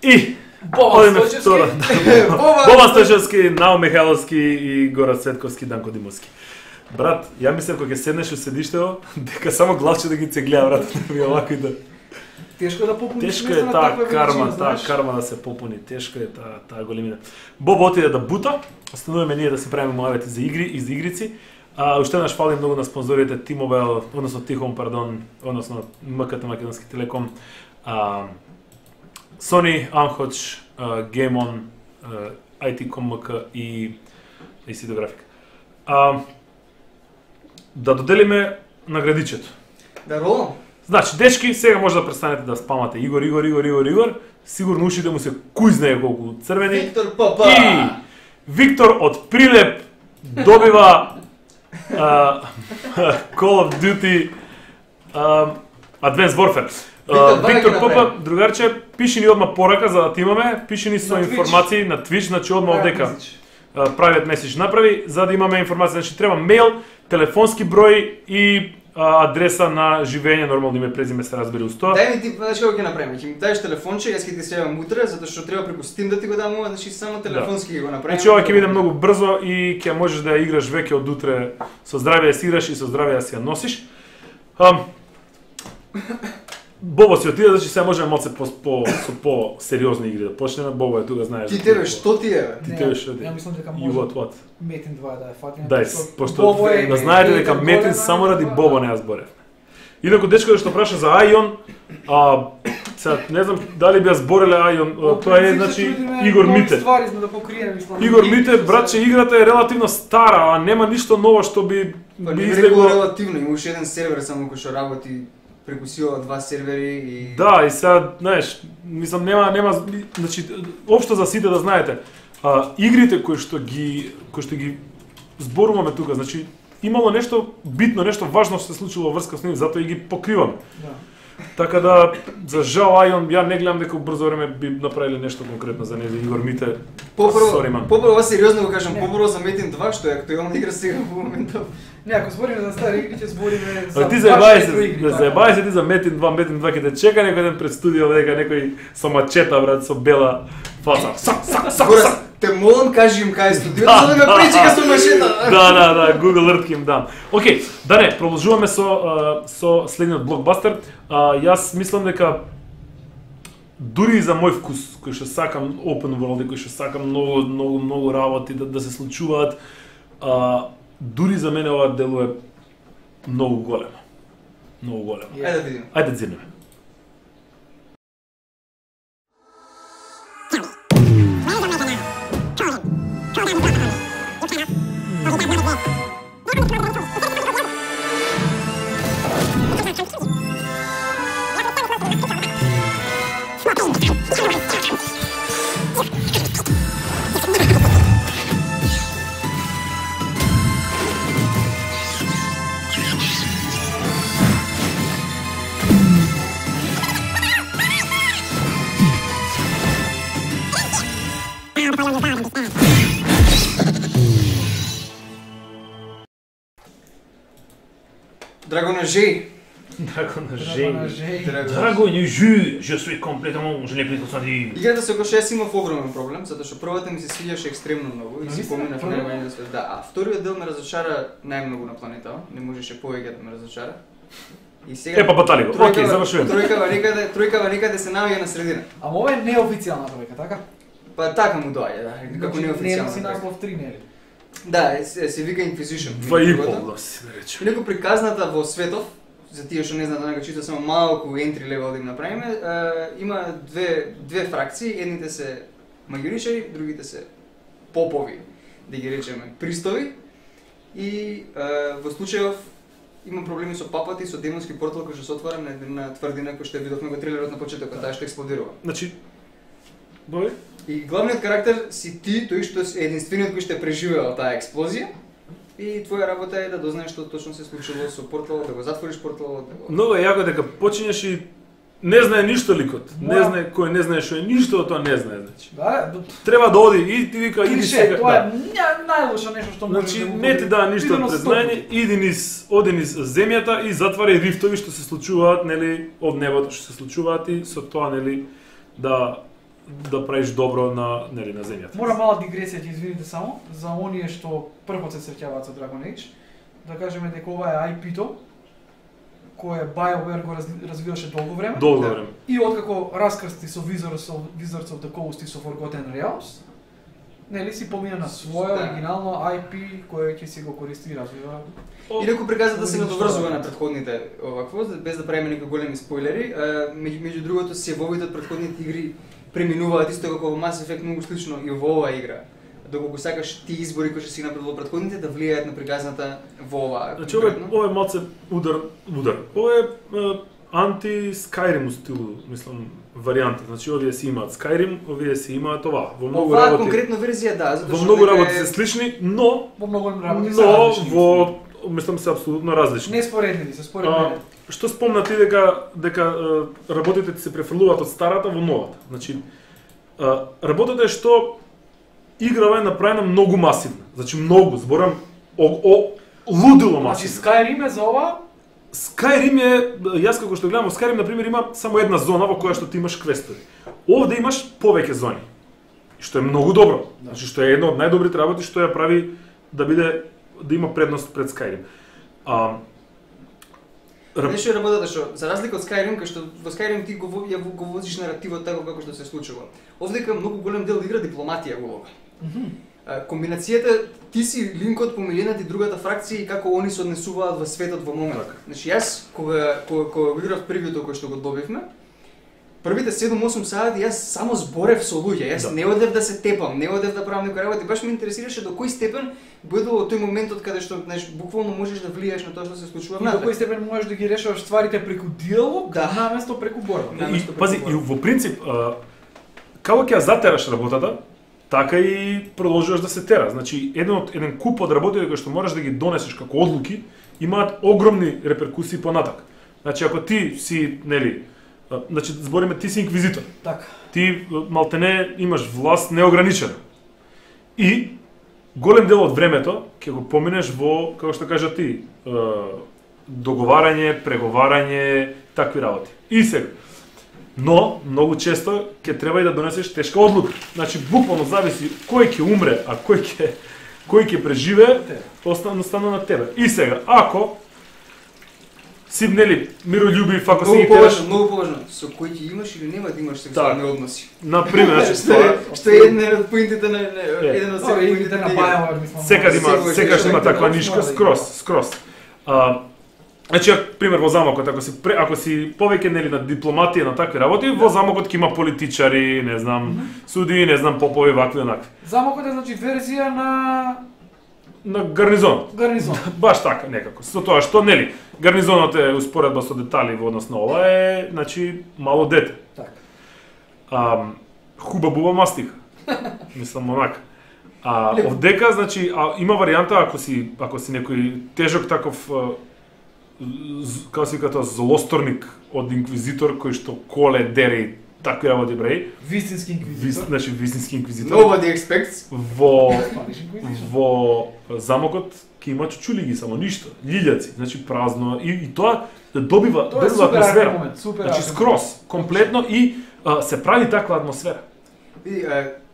И Боба одиме Стојчевски. втора. Боба Стојчевски, Нао Михайловски и Гора Цветковски, Данко Димовски. Брат, ја мислев кога ќе седнеш у седиштето, дека само главче да ги цеглеа, брат, да ми овако и да... Тешко да попуниш Тешко место е на таа таква карма, величина, таа знаеш. карма да се попуни, тешко е таа големина. Боб отиде да бута, остануваме ние да си правиме муавети за игри и за игрици. Уште еднаш фали многу на спонзорите T-Mobile, односно Тихом, пардон, односно МКТ Македонски Телеком, Sony, Amhoč, Game On, IT.com.mk и CD Графика. Да доделиме наградичето. Да ролам? Значи, дечки, сега може да престанете да спамате Игор. Сигурно ушите му се куј знае колку црвени. Виктор Папа! И Виктор од Прилеп добива Call of Duty Advanced Warfare. Виктор Папа, другарче, пиши ни одма порака за да ти имаме, пиши ни со На Twitch. информации на Twitch, значи одма овдека private message направи, за да имаме информација, значи треба мејл, телефонски број и адреса на живење, нормално име, презиме се разбери uz тоа. Дај ми ти, знаеш како ќе направиме? Ќе ми дадеш телефонче, јас ќе ти се јавам утре, затоа што треба преку Steam да ти го дам ова, значи само телефонски ќе го направиме. Значи ова ќе биде многу брзо и ќе можеш да ја играш веќе од утре со здравје да си играш и со здравје да си ја носиш. Бобо си отиде, значи сега можеме малце со по-сериозни игри да почнеме. Бобо е тука, знаеш. Ти тебе што ти е? Ти тебе што ти? Ја мислам дека You може what? Метин 2 да ја фатиме. Дај, пошто Бобо е да знаете дека голема, Метин само ради да. Бобо не ја зборев. Инаку дечко што праша за Ајон, сега не знам дали би ја збореле Ајон, тоа е значи Игор Мите. Ствари за да покриеме, мислам. Игор Мите, братче, играта е релативно стара, а нема ништо ново што би Па не излегло. било релативно, има уште еден сервер само кој што работи преку сила два сервери и Да, и сега, знаеш, мислам нема, значи општо за сите да знаете, игрите кои што ги зборуваме тука, значи имало нешто битно, нешто важно што се случило во врска со нив, затоа и ги покриваме. Да. Така да, за жал Ајон, ја не гледам дека у брзо време би направиле нешто конкретно за него. Игор Мите, sorry, man. Попрво сериозно го кажам, Не. попрво за Метин 2 што е актуелна игра сега во моментот. Не, ако збориме за стари игри, ќе збориме за Ти заебај се, игри. заебај се ти за Метин 2 ќе те чека некој ден пред студио дека некој со мачета, брат, со бела фаца. Сак. Гора, те молам кажи им кај е студиото за да ме пречека со машета. Да, Google Earth ќе им дам. Океј, да не, продолжуваме со следниот блокбастер. Јас мислам дека дури и за мој вкус, кој што сакам open world, кој што сакам многу работи да се случуваат, дури за мене ова дело е многу големо. Многу големо. Ајде да видиме. Ајде дзирнеме. Драгона Жей. Драгона Жей. Драгона Жей, je suis complètement, je l'ai plus ressenti. Играта со која јас имав огромен проблем, затоа што првата ми се свиѓаше екстремно многу и си поминав најмање свет. Да, а вториот дел ме разочара најмногу на планетава, не можеше повеќе да ме разочара. И сега Епа батали го. Океј, завршуваме. Тројкава некаде се наоѓа на средина. Ама ова е неофицијална тројка, така? Па така му доаѓа, да, како неофицијално. Не си наслов 3, нели? Да, се вика Inquisition. 2,5 да си рече. Инаку приказната во светов, за тие што не знаат да чита само малку entry level да им направиме, има две фракции, едните се магиоричари, другите се попови, да ги речеме пристови. И во случајов има проблеми со папата и со демонски портал кој што се отвара на една тврдина кој што ја видовме во трейлерот на почетокот, таа што експлодирува. Значи, бој? И главниот карактер си ти, тој што е единствениот кој што е преживеал таа експлозија. И твоја работа е да дознаеш што точно се случило со порталот, да го затвориш порталот, да го... Многу е јако дека почињаш и не знае ништо ликот. Не знае кој не знае што е ништо, тоа не знае, значи. Да, Треба да оди и ти вика иди сега. Тоа е најлошо нешто што може Значи да не ти даа ништо од признање, оди низ земјата и затварај рифтови што се случуваат, нели, од небото што се случуваат и со тоа, нели, да правиш добро на земјата. Мора мала дигресија, ќе извините само, за оние што првпат се среќаваат со Dragon Age, да кажеме дека ова е IP-то, кое BioWare го развиваше долго време. Долго време. И откако раскрсти со Wizards of the Coast и со Forgotten Realms, нели си помина на своје оригинално IP кое ќе си го користи и развива. Инаку приказата се надоврзува на претходните овакво, без да правиме некои големи спойлери, меѓу другото севовите од претходните игри преминуваат исто како во Mass Effect многу слично и во оваа игра. Доколку сакаш ти избори кои што си направил во претходните да влијаат на приказната во оваа. Значи ова е малце удар. Ова е анти-Skyrim стил, мислам, варијанта. Значи овие си имаат Skyrim, овие си имаат ова. Во многу работи. Оваа конкретна верзија да, затоа што во многу работи се слични, но во многу работи се различни. Во мислам се апсолутно различни. Не споредни се, според мене. Што спомна ти дека работите ти се префрлуваат од старата во новата. Значи работата е што играва е направена многу масивна. Значи многу, зборам лудило масивна. Значи Skyrim е за ова? Skyrim е, јас како што гледам, во Skyrim на пример има само една зона во која што ти имаш квестови. Овде имаш повеќе зони. Што е многу добро. Значи што е едно од најдобрите работи што ја прави да има предност пред Skyrim. Нешто е работата што, за разлика од Skyrim, кај што во Skyrim ти го возиш наративот така како што се случува. Овдека многу голем дел игра дипломатија улога. Комбинацијата ти си линкот помеѓу едната и другата фракција и како они се однесуваат во светот во моментот. Значи јас кога го играв првиот кој што го добивме, првите 7-8 сати јас само зборев со луѓе, јас не одев да се тепам, не одев да правам некои работи, баш ме интересираше до кој степен бидува тој моментот каде што, знаеш, буквално можеш да влијаеш на тоа што се случува внатре. И до кој степен можеш да ги решаваш стварите преку диалог, наместо преку борба. Пази, и во принцип, како ќе ја затераш работата, така и продолжуваш да се тера. Значи, еден куп од работите кои што можеш да ги донесеш како одлуки, имаат огромни реперкусии понатак. Значи, ако ти си, нели, значи, збориме, ти си инквизитор. Така. Ти малтене имаш власт неограничена. И голем дел од времето ќе го поминеш во, како што кажа ти, договарање, преговарање, такви работи. И сега. Но многу често ќе треба и да донесеш тешка одлука. Значи буквално зависи кој ќе умре, а кој ќе преживее, остана на тебе. И сега, ако си, нели, мирољубив, ако си ги тераш... Многу поважно, со кој ќе имаш или нема да имаш сексуални односи. Например, што е една од поинтите на еден од поинтите на BioWare, мислам. Секогаш има таква нишка, скрос. Значи, пример во замокот, ако си повеќе, нели, на дипломатија, на такви работи, во замокот ќе има политичари, не знам, суди, не знам, попови, вакви, онакви. Замокот е, значи, верзија на на гарнизонот. Гарнизон. Баш така некако. Со тоа што нели, гарнизонот е успоредба со детали во однос на ова е, значи, мало дете. Така. Хуба-буба мастика. Мислам онака. Овдека, значи, има варијанта ако си некој тежок таков како се вика тоа злосторник од инквизитор кој што коле, дере и такви работи бреј. Вистински инквизитор. Значи вистински инквизитор. Nobody expects. Во замокот ќе има чучулиги, само ништо, лилјаци, значи празно и тоа добива атмосфера. Значи скроз, комплетно и се прави таква атмосфера. Види,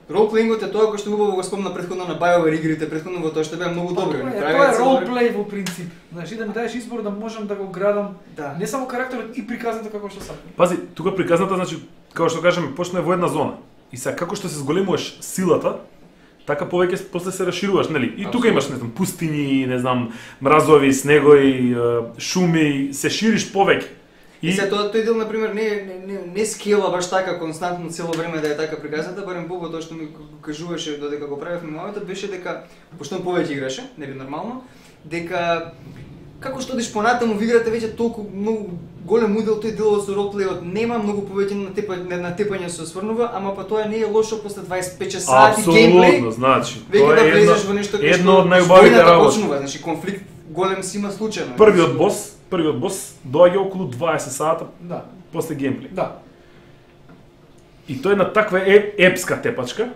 ролплеингот е тоа кој што убаво го спомна претходно на BioWare игрите, претходно во тоа што беа многу добри. Тоа е ролплей во принцип. Значи да ми даеш избор да можам да го градам не само карактерот и приказната како што сакам. Пази, тука приказната, значи, како што кажеме, почна во една зона. И сега како што се зголемуваш силата, така повеќе после се расшируваш, нели? И тука имаш, не знам, пустини, не знам, мразови, снегови, шуми, се шириш повеќе. И се тој дел на пример не скела баш така константно цело време да е така приказната, барем Бобо тоа што ми кажуваше додека го правевме мојот беше дека пошто повеќе играше, нели нормално, дека како што одиш понатаму во играта веќе толку многу голем удел тој делот со ролплејот нема многу повеќе натепање со сврнува, ама па тоа не е лошо после 25 сати геймплей. Апсолутно, значи, тоа е влезеш во нешто едно од најубавите работи. Значи конфликт голем си има случајно. Првиот бос доаѓа околу 20 сата после геймплей. Да. И тој на таква епска тепачка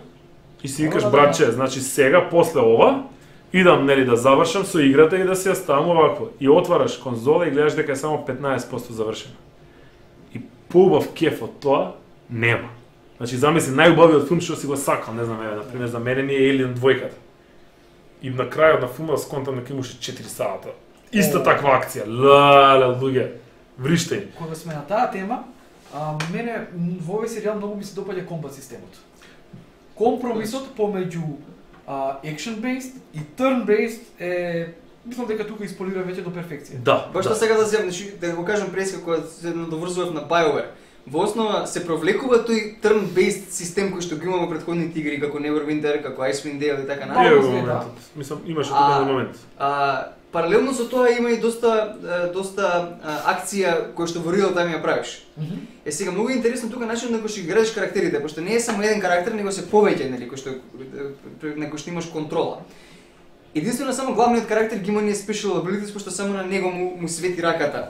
и си викаш братче, значи сега после ова идам нели да завршам со играта и да се ставам овакво. И отвараш конзола и гледаш дека е само 15% завршено. И поубав кеф од тоа нема. Значи замисли најубавиот филм што си го сакал, не знам, на пример за мене ми е Alien 2-ката. И на крајот на филмот сконтам дека имаше 4 сата. Иста таква акција. Луѓе, вриштење. Кога сме на таа тема, мене во овој серијал многу ми се допаѓа комбат системот. Компромисот помеѓу action-based и turn-based е, мислам дека тука исполира веќе до перфекција. Да. Баш што сега да земам, да го кажам преска кога се надоврзував на BioWare. Во основа се провлекува тој turn-based систем кој што го има во претходните игри како Neverwinter, како Icewind Dale и така натаму. Мислам имаше тоа момент. Паралелно со тоа има и доста акција која што во реал тайм ја правиш. Е сега многу интересно тука начинот на кој што играеш карактерите, пошто не е само еден карактер, него се повеќе, нели, кој што на кој што имаш контрола. Единствено само главниот карактер ги има ние special abilities, пошто само на него му свети раката.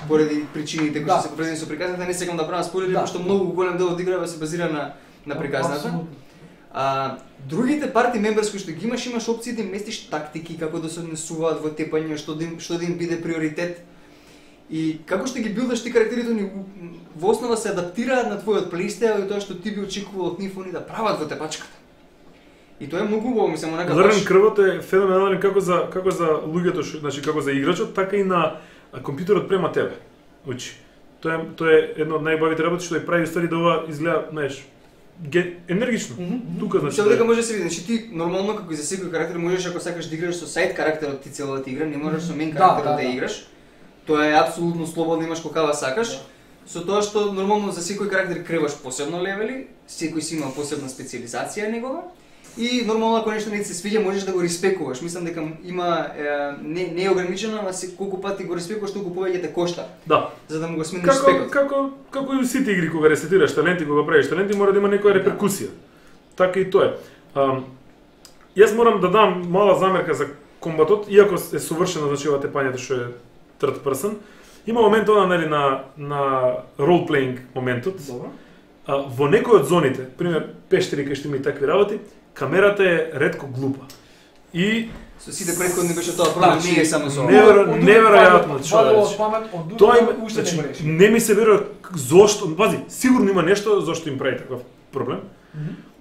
Поради причините кои што се поврзани со приказната, не сакам да правам спойлери, пошто многу голем дел од играва се базира на приказната. Другите парти мемберс кои што ги имаш опции да им местиш тактики како да се однесуваат во тепање, што да им биде приоритет. И како што ги билдаш ти карактерите, они во основа се адаптираат на твојот плейстайл и тоа што ти би очекувал од нив они да прават во тепачката. И тоа е многу убаво, мислам, онака Лерен крвот е феноменален како за луѓето, значи како за играчот, така и на компјутерот према тебе. Учи. Тоа е едно од најубавите работи што ја прави ствари да ова изгледа, знаеш, енергично. Тука значи. Што дека може да се види, значи ти нормално како и за секој карактер можеш ако сакаш да играш со сайд карактерот ти целата игра, не можеш со мен карактерот да играш. Тоа е апсолутно слободно, имаш какава сакаш. Со тоа што нормално за секој карактер креваш посебно левели, секој си има посебна специализација негова. И нормално ако нешто не ти се свиѓа можеш да го респекуваш. Мислам дека има не е ограничено, ама колку пати го респекуваш толку повеќе те кошта. Да. За да му го смениш спекот. Како и сите игри кога ресетираш таленти, кога правиш таленти, мора да има некоја реперкусија. Така и тоа е. Јас морам да дам мала замерка за комбатот, иако е совршено значи ова тепањето што е third person. Има момент она нели на role playing моментот. Добро. Во некој од зоните, пример пештери кај што има и такви работи, камерата е ретко глупа. И со сите претходни беше тоа проблем, не е само со неверојатно човече. Тоа уште не ми се верува зошто, пази, сигурно има нешто зошто им прави таков проблем.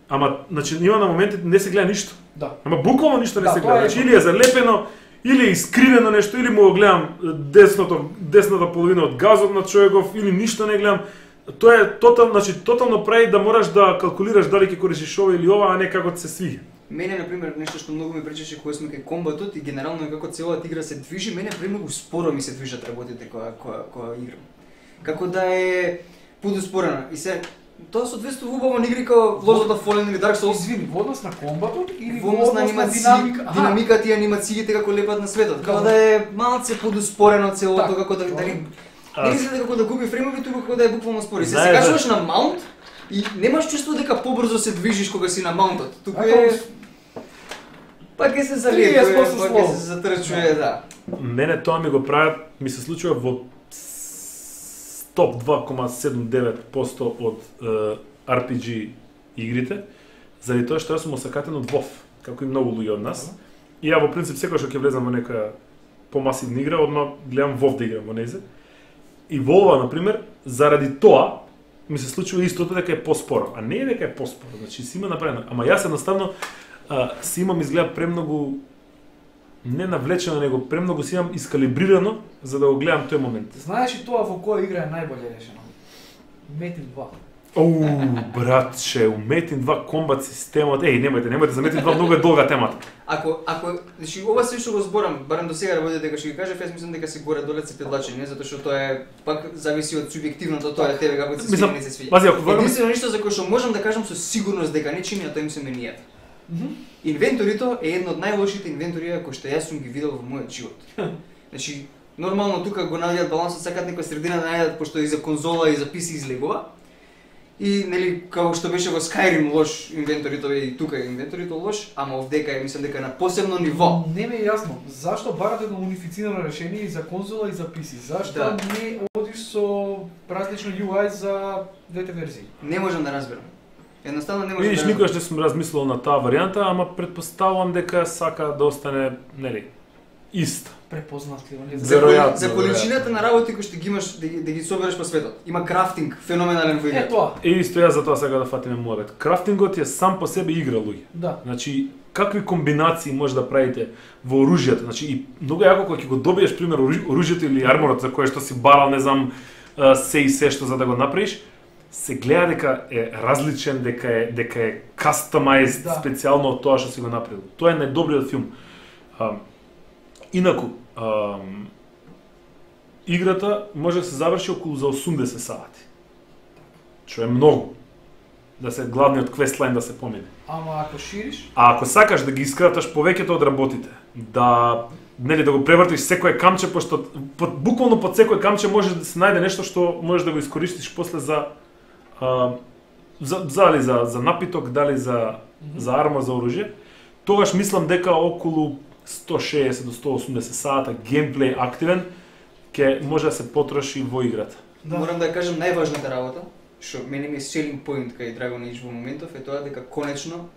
Ама значи има на моменти не се гледа ништо. Да. Ама буквално ништо не се гледа. Значи или е залепено, или е искривено нешто, или му го гледам десната половина од газот на човеков, или ништо не гледам. Тоа е тотално прави да мораш да калкулираш дали ќе користиш ова или ова, а не како се свиѓа. Мене, например, нешто што многу ми пречеше кога сме кај комбатот и генерално како целата игра се движи, мене премногу споро ми се движат работите кога играм. Како да е подуспорено. И се Тоа соодветствува убаво на игри како Lords of Fallen или Dark Souls. Извини, во однос на комбатот или Во однос на динамика, динамиката и анимациите како лепат на светот. Како да е малце подуспорено целото, како да дали не изгледа како да губи фреймови, туку како да е буквално спори. Се кажуваш на маунт и немаш чувство дека побрзо се движиш кога си на маунтот. Туку е пак ќе се залие, пак ќе се затрчува, да. Мене тоа ми го прават, ми се случува во топ 2,79% од RPG игрите, заради тоа што јас сум осакатен од WoW, како и многу луѓе од нас. И ја во принцип секогаш кога ќе влезам во некоја помасивна игра, одма гледам WoW да играм во нејзе. И во ова, например, заради тоа ми се случува истото дека е поспоро, а не е дека е поспоро, значи си има направено. Ама јас едноставно си имам изгледа премногу не навлечено, него премногу си имам искалибрирано за да го гледам тој момент. Знаеш ли тоа во која игра е најболе решено? Metin 2. Братче, у Metin 2 комбат системот, немајте, за Metin 2 многу е долга темата. Ако, значи ова се што го зборам, барем до сега работите дека ќе ги кажев, јас мислам дека се горе-доле се предлачени, не затоа што тоа е пак зависи од субјективното, тоа е тебе како се свиѓа, не се свиѓа. Пази, ако единствено нешто за кое што можам да кажам со сигурност дека не чини, а тоа им се менијата. Инвенторито е едно од најлошите инвенторија кои што јас сум ги видел во мојот живот. Значи, нормално тука го наоѓаат балансот, сакаат некоја средина да најдат, пошто и за конзола и за PC излегува. И нели како што беше во Skyrim лош инвенторито и тука е инвенторито лош, ама овдека е мислам дека на посебно ниво. Не ми е јасно зашто барате едно унифицирано решение и за конзола и за PC. Зашто не одиш со различно UI за двете верзии? Не можам да разберам. Едноставно не можам Видиш, да разберам. никогаш не сум размислил на таа варијанта, ама претпоставувам дека сака да остане, нели, иста. Препознатливо. За количината на работи кои што ги имаш да ги собереш по светот. Има крафтинг феноменален во играта. Тоа. И исто јас за тоа сега да фатиме муабет. Крафтингот е сам по себе игра, луѓе. Да. Значи, какви комбинации може да правите во оружјето? Значи, и многу јако кога ќе го добиеш пример оружјето или арморот за кое што си барал, не знам, се и се што за да го направиш, се гледа дека е различен, дека е customized специјално од тоа што си го направил. Тоа е најдобриот филм. Инаку, играта може да се заврши околу за 80 сати. Што е многу. Да се главниот квестлайн да се помине. Ама ако шириш? А ако сакаш да ги искраташ повеќето од работите, да го превртиш секое камче, пошто буквално под секое камче може да се најде нешто што можеш да го искористиш после дали за напиток, дали за арма, за оружје, тогаш мислам дека околу 160 до 180 сата геймплей активен ќе може да се потроши во играта. Да. Морам да кажам најважната работа, што мене ми е selling point кај Dragon Age во моментов е тоа дека конечно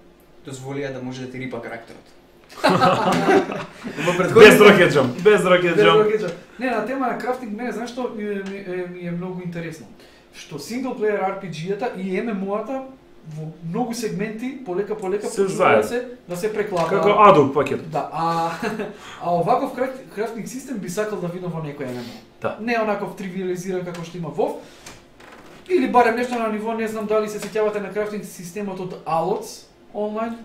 дозволија да може да ти рипа карактерот. Без рокеджам. Не, на тема на крафтинг, мене знаеш што ми е многу интересно. Што single player RPG-ата и MMO-ата во многу сегменти полека почнува да се преклапа. Како Adobe пакет. Да, а оваков крафтинг систем би сакал да видам во некој MMO. Да. Не онаков тривиализиран како што има WoW. Или барем нешто на ниво, не знам дали се сеќавате на крафтинг системот од Alots онлайн,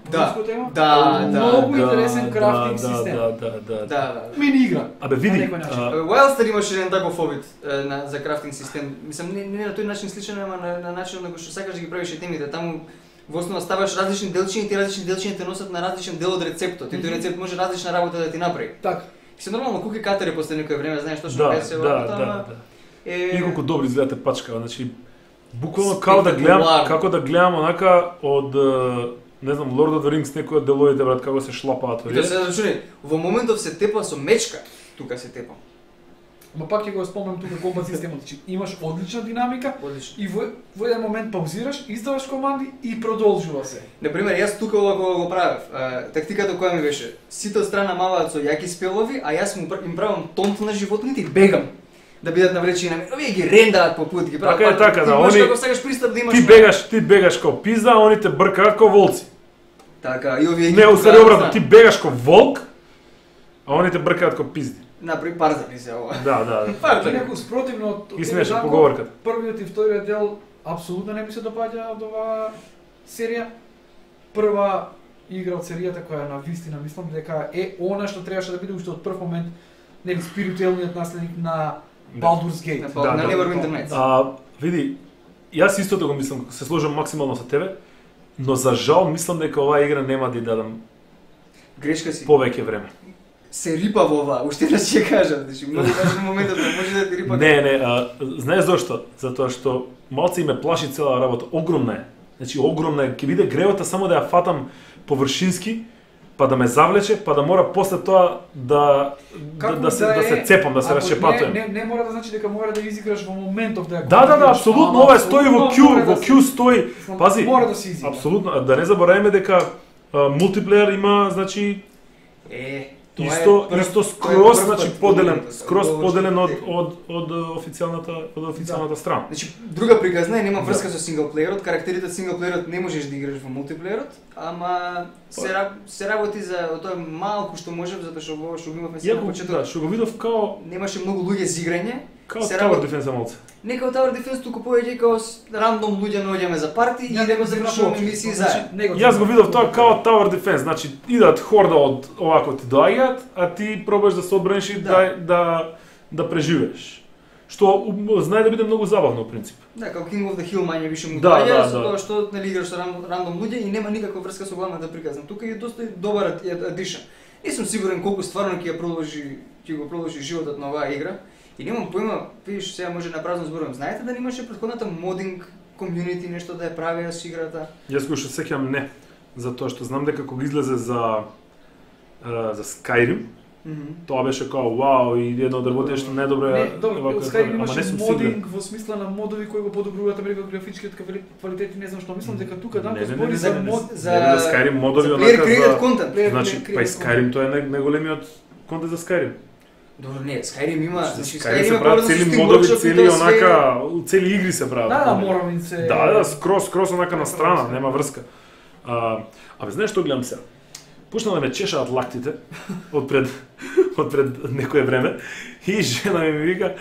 Да. Многу интересен крафтинг систем. Да. Мини игра. Абе види, Wildstar имаше еден таков обид за крафтинг систем. Мислам не на тој начин сличен, ама на начин на кој што сакаш да ги правиш темите. Таму во основа ставаш различни делчиња и тие различни делчиња те носат на различен дел од рецептот. И тој рецепт може различна работа да ти направи. Така. Се нормално куки катери после некое време, знаеш што е се работа. И колку добри изгледате пачка, значи буквално како да гледам онака од не знам, Lord of the Rings, некои од деловите, брат, како се шлапаат. И да се рачуни, во моментов се тепа со мечка, тука се тепа. Ма пак ќе го спомнам тука комбат системот, значи имаш одлична динамика и во еден момент паузираш, издаваш команди и продолжува се. Например, јас тука ова го правев, тактиката која ми беше, сите од страна маваат со јаки спелови, а јас им правам тонт на животните и бегам. Да бидат навлечени на мене. Овие ги рендаат по пут, ги прават. Така, да, они како сакаш пристап да имаш. Ти бегаш како пизда, а они те бркаат како волци. Така, и овие не усари обратно, ти бегаш како волк, а они те бркаат како пизди. Например, парзани се ова. Да. Инаку спротивно од смешна поговорката. Првиот и вториот дел апсолутно не ми се допаѓа од оваа серија. Прва игра од серијата која на вистина мислам дека е она што требаше да биде уште од прв момент, нели спиритуелниот наследник на Baldur's Gate. На Neverwinter Nights. Види, Јас истото го мислам, се сложам максимално со тебе, но за жал мислам дека оваа игра нема да ја дадам Грешка си. повеќе време. Се рипа во ова, уште да ќе кажам, значи многу важен моментот да може да ти рипа. Не, знаеш зошто? Затоа што малце и ме плаши цела работа, огромна е. Значи огромна е, ќе биде гревата само да ја фатам површински, па да ме завлече, па да мора после тоа да се цепам, да се расчепатувам. Не мора да значи дека мора да изиграш во моментов да ја. Да, апсолутно, ова стои во Q стои. Пази. Мора да се изигра. Апсолутно, да не забораваме дека мултиплеер има, значи исто скроз, значи поделен од официјалната страна. Значи друга приказна е нема врска со синглплеерот, карактерите од синглплеерот не можеш да играш во мултиплеерот, ама се работи за тоа малку што можев затоа што во што имавме сега на почеток. Да, што го видов као Немаше многу луѓе за играње. Као Tower Defense малце. Не као Tower Defense, туку повеќе као рандом луѓе наоѓаме за парти и да го завршуваме мисии заедно. Јас го видов тоа као Tower Defense, значи идат хорда од овако ти доаѓаат, а ти пробаш да се одбраниш и да преживееш. Што знае да биде многу забавно во принцип. Да, као King of the Hill мање више му доаѓа, со тоа што нели играш со рандом луѓе и нема никаква врска со главната приказна. Тука е доста добар адишн. Не сум сигурен колку стварно ќе го продолжи животот на оваа игра. И немам појма, видиш, сега може на празно зборувам. Знаете да немаше претходната модинг комјунити нешто да ја правеа со играта? Јас го што сеќам не, затоа што знам дека кога излезе за Skyrim, тоа беше као вау и едно од работењето најдобро е. Skyrim имаше модинг во смисла на модови кои го подобруваат графичкиот квалитет и не знам што. Мислам дека тука Данко збори за мод за Skyrim модови онака за значи па Skyrim тоа е најголемиот контент за Skyrim. Добро, не, Skyrim има, значи Skyrim се прават цели модови, цели онака, цели игри се прават. Да, Morrowind. Да, скроз онака на страна, нема врска. Абе, знаеш што гледам сега? Почна да ме чешаат лактите од пред некое време и жена ми вика,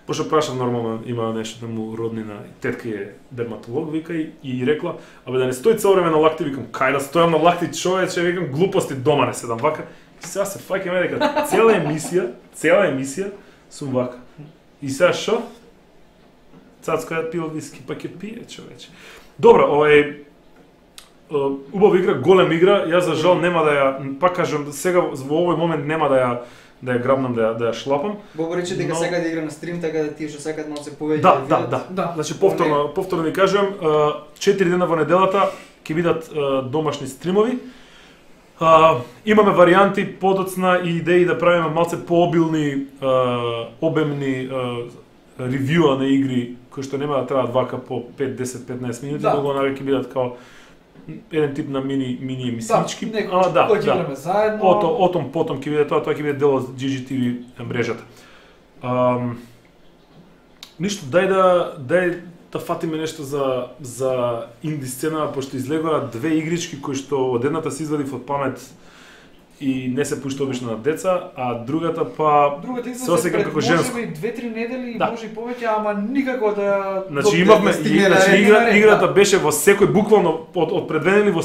пошто прашам нормално, има нешто да му роднина, тетка е дерматолог, вика и рекла, абе да не стои цело време на лакти, викам, кај да стојам на лакти, човече, викам, глупости дома не седам вака. И сега се фаќаме дека цела емисија сум вака. И сега шо? Цацко ја пил виски, па ќе пие, човече. Добро, убава игра, голем игра, јас за жал нема да ја, пак кажам, сега во овој момент нема да ја грабнам, да ја шлапам. Бобо рече дека сега да игра на стрим, така да тие што сакаат малце повеќе да. Значи повторно ви кажам, 4 дена во неделата ќе бидат домашни стримови. Имаме варијанти подоцна и идеи да правиме малце пообилни, обемни ревјуа на игри кои што нема да траат вака по 5, 10, 15 минути, многу онака ќе бидат као еден тип на мини емисички. Кој ќе играме заедно. Потом ќе биде тоа ќе биде дел од GGTV мрежата. Ништо, дај да фатиме нешто за инди сцена, пошто излегоа две игрички кои што од едната се извадив од памет и не се пушта обично на деца, а другата се осеќам како женско. Може би 2-3 недели, може и повеќе, ама никако да... Значи имавме, играта беше во секој, буквално од пред 2 недели во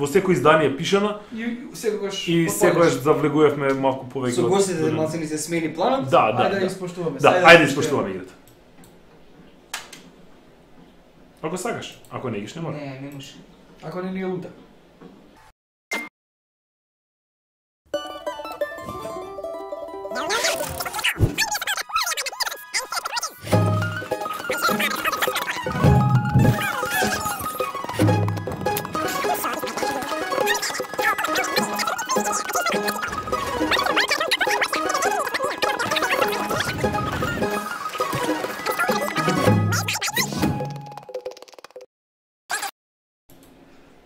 секој издание пишана и секогаш завлегувавме малку повеќе. Со гостите малце ни се смени планот. Ајде да испоштуваме. Да, ајде да испоштуваме играта. Ако сакаш, ако не играш не мора. Не може. Ако не ни е лута.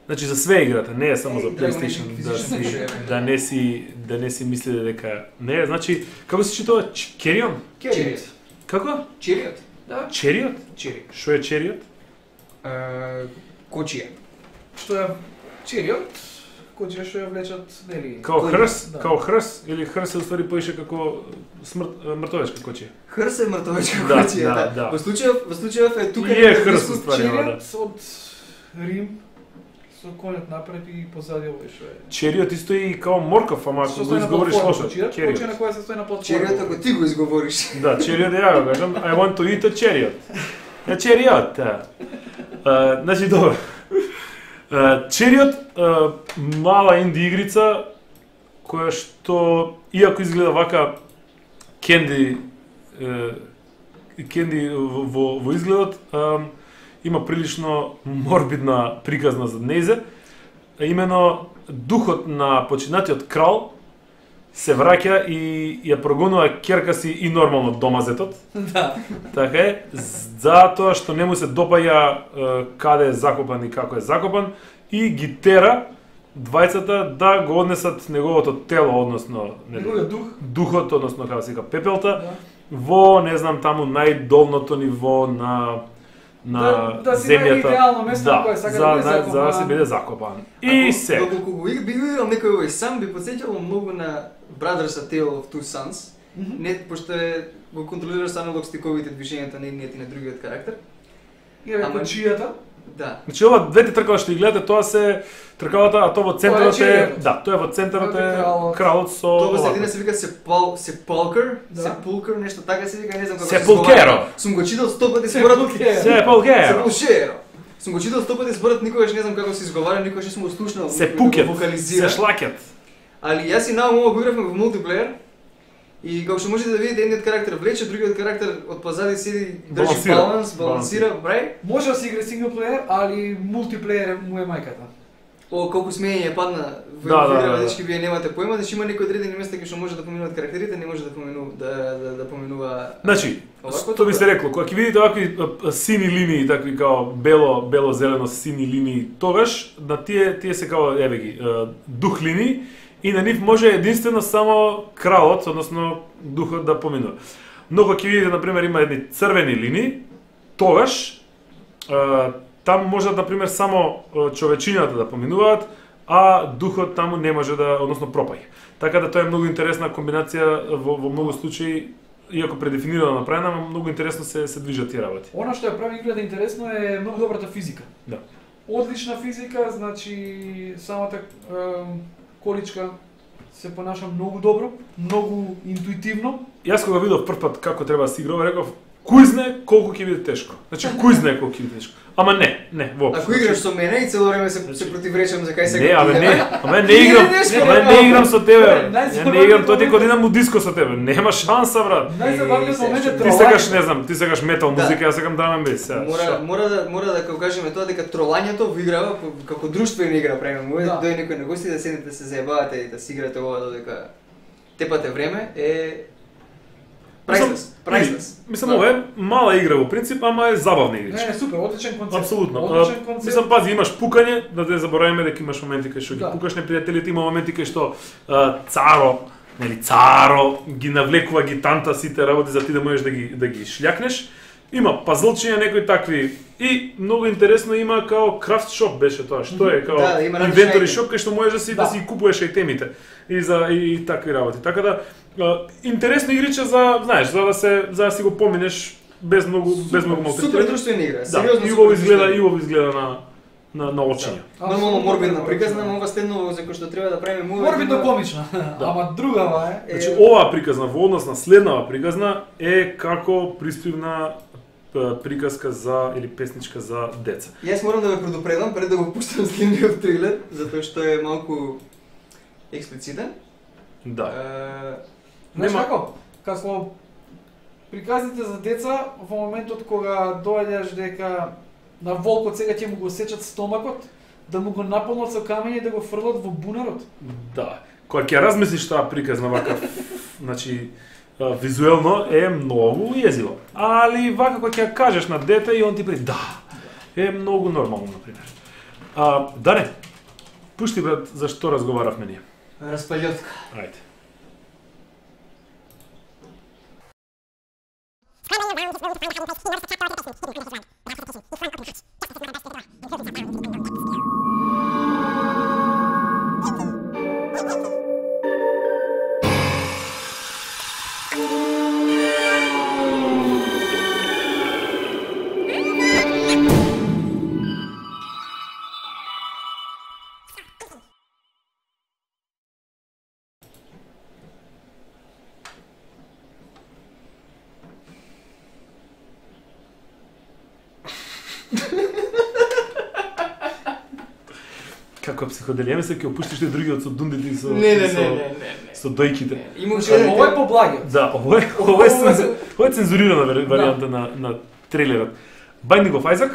Значи за све играта, не е само за PlayStation, да не си мислите дека не е, значи како се читува Carrion? Како? Chariot. Да. Chariot? Што е Chariot? Кочија. Што е Chariot? Коџија што ја влечат, нели? Као хрс или хрс е уствари поише како мртовечка кочија. Хрс е мртовечка кочија, да. Во случајов е тука е хрс уствари, да. Од Рим со конјот напред и позади овој што е. Чериот исто и као морков, ама ако го изговориш лошо. Кочија на која се стои на платформа. Чериот ако ти го изговориш. Да, чериот ја го кажам, I want to eat a chariot. Чериот. Значи добро. Чериот мала инди игрица која што иако изгледа вака кенди во изгледот, има прилично морбидна приказна за нејзе. Имено духот на починатиот крал се враќа и ја прогонува ќерка си и нормално домазетот. Да. Така е, затоа што не му се допаѓа каде е закопан и како е закопан и ги тера двајцата да го однесат неговото тело, односно Неговиот дух. духот, односно како се вика пепелта, во не знам таму најдолното ниво на Да си земјата. најде идеално место на кое сака да биде закопан. За да се биде закопан. И се. Доколку го би играл некој овој сам, би потсеќало многу на Brothers A Tale of Two Sons. Не, пошто го контролираш само док стиковите движењата на едниот и на другиот карактер. И чијата? Да. Значи ова двете тркала што ги гледате, тоа се тркалата, а тоа во центарот Тоа е е, чериот. да, тоа е во центарот е Кралот. кралот со Тоа во овако. средина се вика Sepulcher, Да. Sepulcher, нешто така се вика, не знам како Sepulchero. Сум го читал 100 пати зборот. Sepulchero. Sepulchero. Сум го читал 100 пати зборот, никогаш не знам како се изговара, никогаш не сум го слушнал. Се да пукет, го се вокализира. шлакет. Али јас и наум ова го игравме во мултиплеер. И како што можете да видите, едниот карактер влече, другиот карактер од позади седи, држи балансира, брај. Може да се игра сингл плеер, али мултиплеер му е мајката. О, колку смење падна во Да, игра, да. дечки, вие немате поема, значи има некои одредени места кај што може да поминуваат карактерите, не може да поминува. Значи, Овако што би се добро. рекло, кога ќе видите овакви сини линии, такви као бело-зелено сини линии, тогаш на тие се као еве ги дух линии и на нив може единствено само кралот, односно духот да поминува. Но кога ќе видите на пример има едни црвени линии, тогаш таму можат на пример само човечињата да поминуваат, а духот таму не може да, односно пропаѓа. Така да тоа е многу интересна комбинација во многу случаи, иако предефинирано направена, но многу интересно се движат тие работи. Она што ја прави играта интересно е многу добрата физика. Да. Одлична физика, значи самата количка се понаша многу добро, многу интуитивно. Јас кога видов прв пат како треба да се игрува, реков, кој знае колку ќе биде тешко. Значи, кој знае колку ќе биде тешко. Ама не, воопшто. Ако играш со мене и цело време се противречам за кај се. Не, не играм со тебе. Ја не играм, тоа ти кога идам у диско со тебе. Нема шанса, брат. Најзабавниот момент е Ти сакаш, не знам, ти сакаш метал музика, јас сакам драм енд бейс. Мора да кажеме тоа дека тролањето во играва како друштвена игра правиме. Да. Дојде некој на гости да седнете се заебавате и да си играте ова додека тепате време е priceless. Мислам, ова е мала игра во принцип, ама е забавна игричка. Не, супер, одличен концепт. Апсолутно. Одличен концепт. Мислам, пази, имаш пукање, да не забораваме дека имаш моменти кај што ги Да. пукаш непријателите, има моменти кај што царо ги навлекува гитанта сите работи за ти да можеш да ги шљакнеш. Има пазлчиња некои такви и многу интересно има као крафт шоп беше тоа, што е као Да, има различни инвентори айтеми. шоп кај што можеш да си купуваш айтемите и такви работи. Така да интересно игриче за, знаеш, за да си го поминеш без многу Супер малтретирање. друштвена игра. Да, Сериозно. и убаво изгледа на очиња. Нормално морбидна приказна, но ова стедно за кој што треба да правиме муви. Морбидно комична, ама другава е. Значи оваа приказна во однос на следнава приказна е како приспивна приказка за или песничка за деца. Јас морам да ве предупредам пред да го пуштам следниот трейлер, затоа што е малку експлицитен. Да. Знаеш Нема- како? Како приказните за деца во моментот кога доаѓаш дека на волкот сега ќе му го сечат стомакот, да му го наполнат со камења и да го фрлат во бунарот. Да. Кога ќе размислиш таа приказна вака, значи визуелно е многу језиво. Али вака кога ќе ја кажеш на дете и он ти да, е многу нормално на пример. Дане, пушти брат за што разговаравме ние. Распалјотка. Ајде. Како психоделија, мислам ќе опуштиш другиот со дундите и со Не. со дојките. Има Ова е поблагиот. Да, ова е цензурирана варијанта на трейлерот. Binding of Isaac,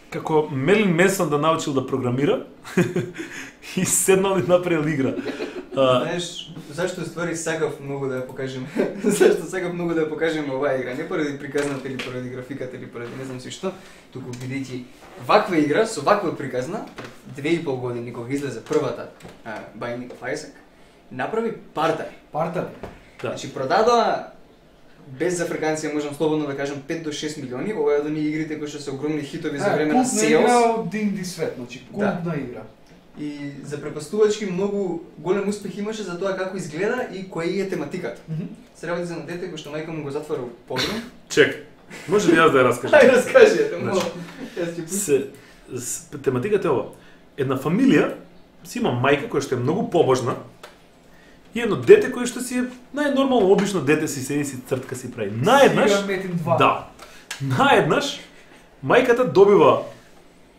како Мелин Менсон да научил да програмира и седнал и направил игра. Знаеш, зашто ствари сакав многу да ја покажем? Зашто сакав многу да ја покажем оваа игра? Не поради приказната или поради графиката или поради не знам си што, туку бидејќи ваква игра со ваква приказна, 2,5 години кога излезе првата Binding of Isaac, направи партари. Партари. Да. Значи продадоа без за фраканција можам слободно да кажам 5 до 6 милиони, ова е од оние игрите кои што се огромни хитови за време на Култна игра Sales. од D&D свет, значи култна игра. И за препастувачки многу голем успех имаше за тоа како изгледа и која е тематиката. Се работи за на дете кој што мајка му го затвара во подрум. Чек, може ли јас да ја раскажам? Ај раскажете, моля. Значи, Јас ќе пустам. тематиката е ова. Една фамилија си има мајка која што е многу побожна и едно дете кое што си е најнормално обично дете си седи си цртка си прави. Наеднаш, Игра Метин 2. да. Наеднаш мајката добива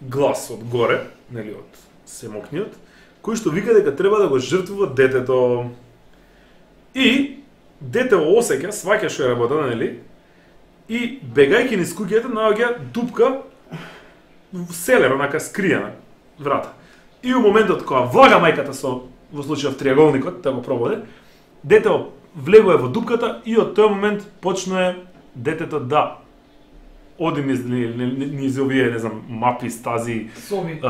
глас од горе, нели од семокниот, кој што вика дека треба да го жртвува детето. И дете осеќа, сваќа што е работата, нели? И бегајќи низ куќата наоѓа дупка в селер, онака скриена врата. И у моментот кога влага мајката со во случајов триаголникот, да го прободе, детето влегува во дупката и од тој момент почнува детето да оди низ овие, не знам, мапи, стази,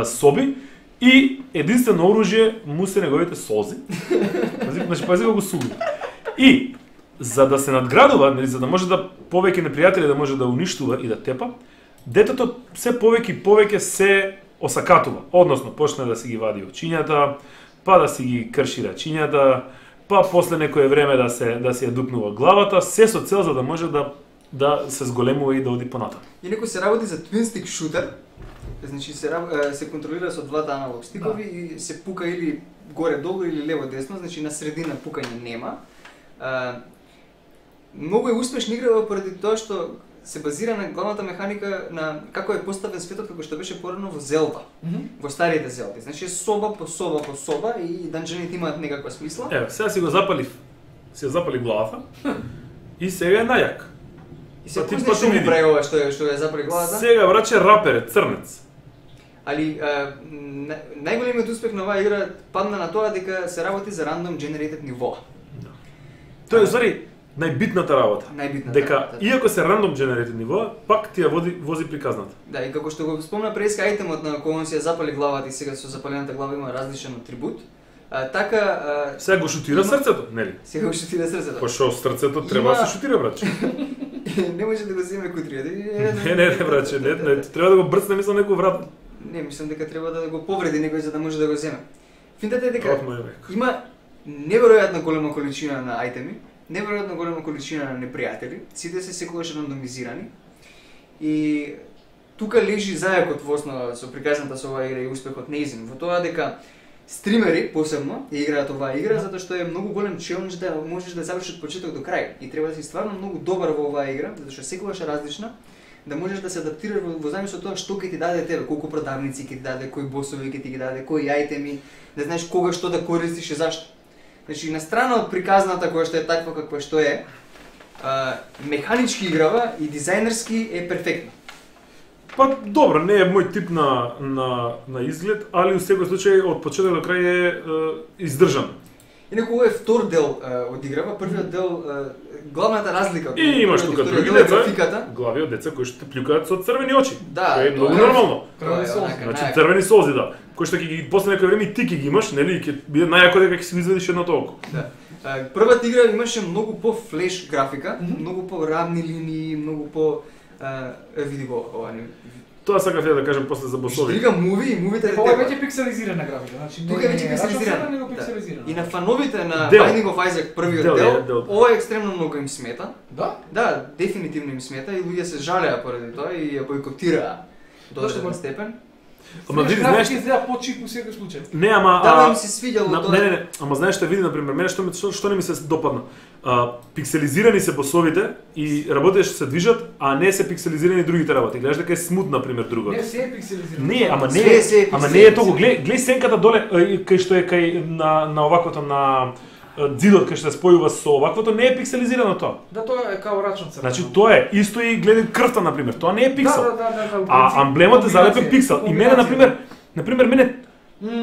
соби и единствено оружје му се неговите солзи. Значи, пази го суди. И за да се надградува, нели, за да може да повеќе непријатели да може да уништува и да тепа, детето се повеќе се осакатува, односно почне да си ги вади очињата, па да си ги крши рачињата, па после некое време да се ја дупнува главата, се со цел за да може да се зголемува и да оди понатаму. Инаку се работи за twin stick shooter, значи се контролира со двата аналог стикови и се пука или горе-долу или лево-десно, значи на средина пукање нема. Многу е успешна игра поради тоа што се базира на главната механика на како е поставен светот како што беше порано во Зелда, во старите Зелди. Значи соба по соба по соба и данџените имаат некаква смисла. Еве, сега си го запали главата и сега е најак. И се кој што му прави ова што е запали главата? Сега враче рапер е црнец. Али најголемиот успех на оваа игра падна на тоа дека се работи за random generated ниво. Тоа е зари најбитната работа. Дека работа. Иако се random generated ниво, пак ти ја вози приказната. Да, и како што го спомна преска ајтемот на кој он си ја запали главата и сега со запалената глава има различен атрибут. Така сега го шутира срцето, нели? Сега го шутира срцето. Па што срцето треба да се шутира, браќе. Не може да го земе кутрија. Не, браќе, не, треба да го брцне мислам некој врат. Не, мислам дека треба да го повреди некој за да може да го земе. Финтата е дека има неверојатно голема количина на ајтеми, неверојатно голема количина на непријатели, сите се секогаш рандомизирани. И тука лежи зајакот во основа со приказната со оваа игра и успехот неизин. Во тоа дека стримери посебно ја играат оваа игра затоа што е многу голем челендж да можеш да завршиш од почеток до крај и треба да си стварно многу добар во оваа игра затоа што секогаш е различна, да можеш да се адаптираш во зависност од тоа што ќе ти даде тебе, колку продавници ќе ти даде, кои босови ќе ти ги даде, кои ајтеми, да знаеш кога што да користиш и зашто. Значи на страна од приказната која што е таква каква што е, механички играва и дизајнерски е перфектна. Па добро, не е мој тип на изглед, али во секој случај од почеток до крај е издржан. Инаку ова е втор дел од играва, првиот дел главната разлика од и имаш тука други деца, глави од деца кои што те плюкаат со црвени очи. Да, е многу нормално. Значи црвени солзи, да. Кои што ќе ги после некој време и ти ќе ги имаш, нели, ќе биде најако дека ќе си извадиш едното око. Да. Првата игра имаше многу по флеш графика, многу по равни линии, многу по види го ова. Тоа сакав ја да кажам после за босови. Стига мувите Ова е веќе пикселизирана графика, значи тука е веќе пикселизирана. него пикселизирана. И на фановите на Binding of Isaac првиот дел, ова екстремно многу им смета. Да? Да, дефинитивно им смета и луѓе се жалеа поради тоа и ја бойкотираа до одреден степен. Ама види, знаеш, изгледа по-чип во секој случај. Не, ама да, им се свиѓало тоа. Не, ама знаеш што види на пример, мене што не ми се допадна. Пикселизирани се босовите и работите што се движат, а не се пикселизирани другите работи. Гледаш дека е смут на пример другото. Не се е пикселизирано. Не, ама не, Се ама не е толку. Гледај сенката доле кај што е кај на оваквото на ѕидот кај што се спојува со оваквото, не е пикселизирано тоа. Да, тоа е као рачно црвено. Значи тоа е исто и гледај крвта на пример. Тоа не е пиксел. Да, А амблемот е залепен пиксел. И мене на пример мене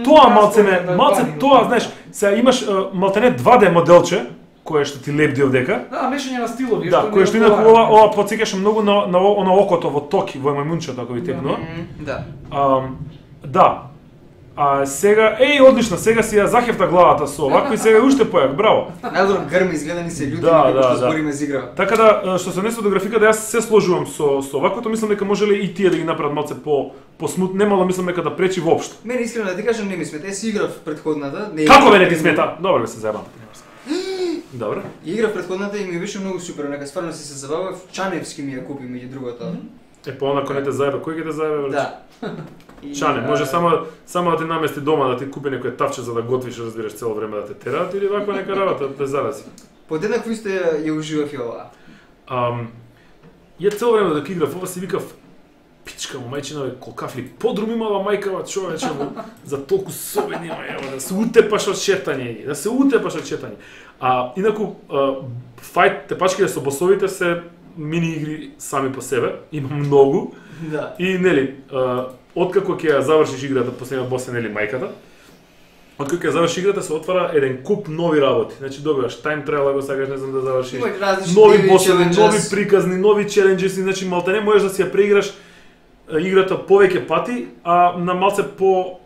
тоа малце тоа, знаеш, сега имаш малтене 2D моделче кое што ти лепди овдека. Да, мешање на стилови. Да, кое што инаку ова потсеќаше многу на окото во Токи, во мајмунчето ако ви текнува. Да. Да. А сега, одлично, сега си ја захефта главата со овако и сега уште појак, браво. Најдобро грми изгледани се луѓе што збориме за игра. Така да, што се однесува до графиката, јас се сложувам со оваквото, мислам дека можеле и тие да ги направат малце по смут, немало мислам дека да пречи воопшто. Мене искрено да ти кажам не ми смета, си играв предходната, Како мене ти смета? Добро се заебам. Добро. Играв предходната и ми беше многу супер, нека стварно си се забавав, Чаневски ми ја купи меѓу другото. Па онако не те заебе, кој ќе те заебе? Да. Чане, може само да ти намести дома да ти купи некој тавче за да готвиш, разбираш, цело време да те тераат или ваква нека работа да те зарази. Подеднакво исто ја уживав и ова. Ја цело време док играв ова си викав пичка му мајчина, бе, колкав ли подрум имала мајкава човече, за толку собени има, да се утепаш од шетање, инаку фајт тепачките со босовите се мини игри сами по себе, има многу. Да. И нели, откако ќе ја завршиш играта, последниот бос е нели мајката. Откако ќе ја завршиш играта се отвара еден куп нови работи. Значи добиваш time trial ако сакаш не знам да завршиш. Нови босови, нови приказни, нови челенџеси, значи малтене можеш да си ја преиграш играта повеќе пати, а на малце по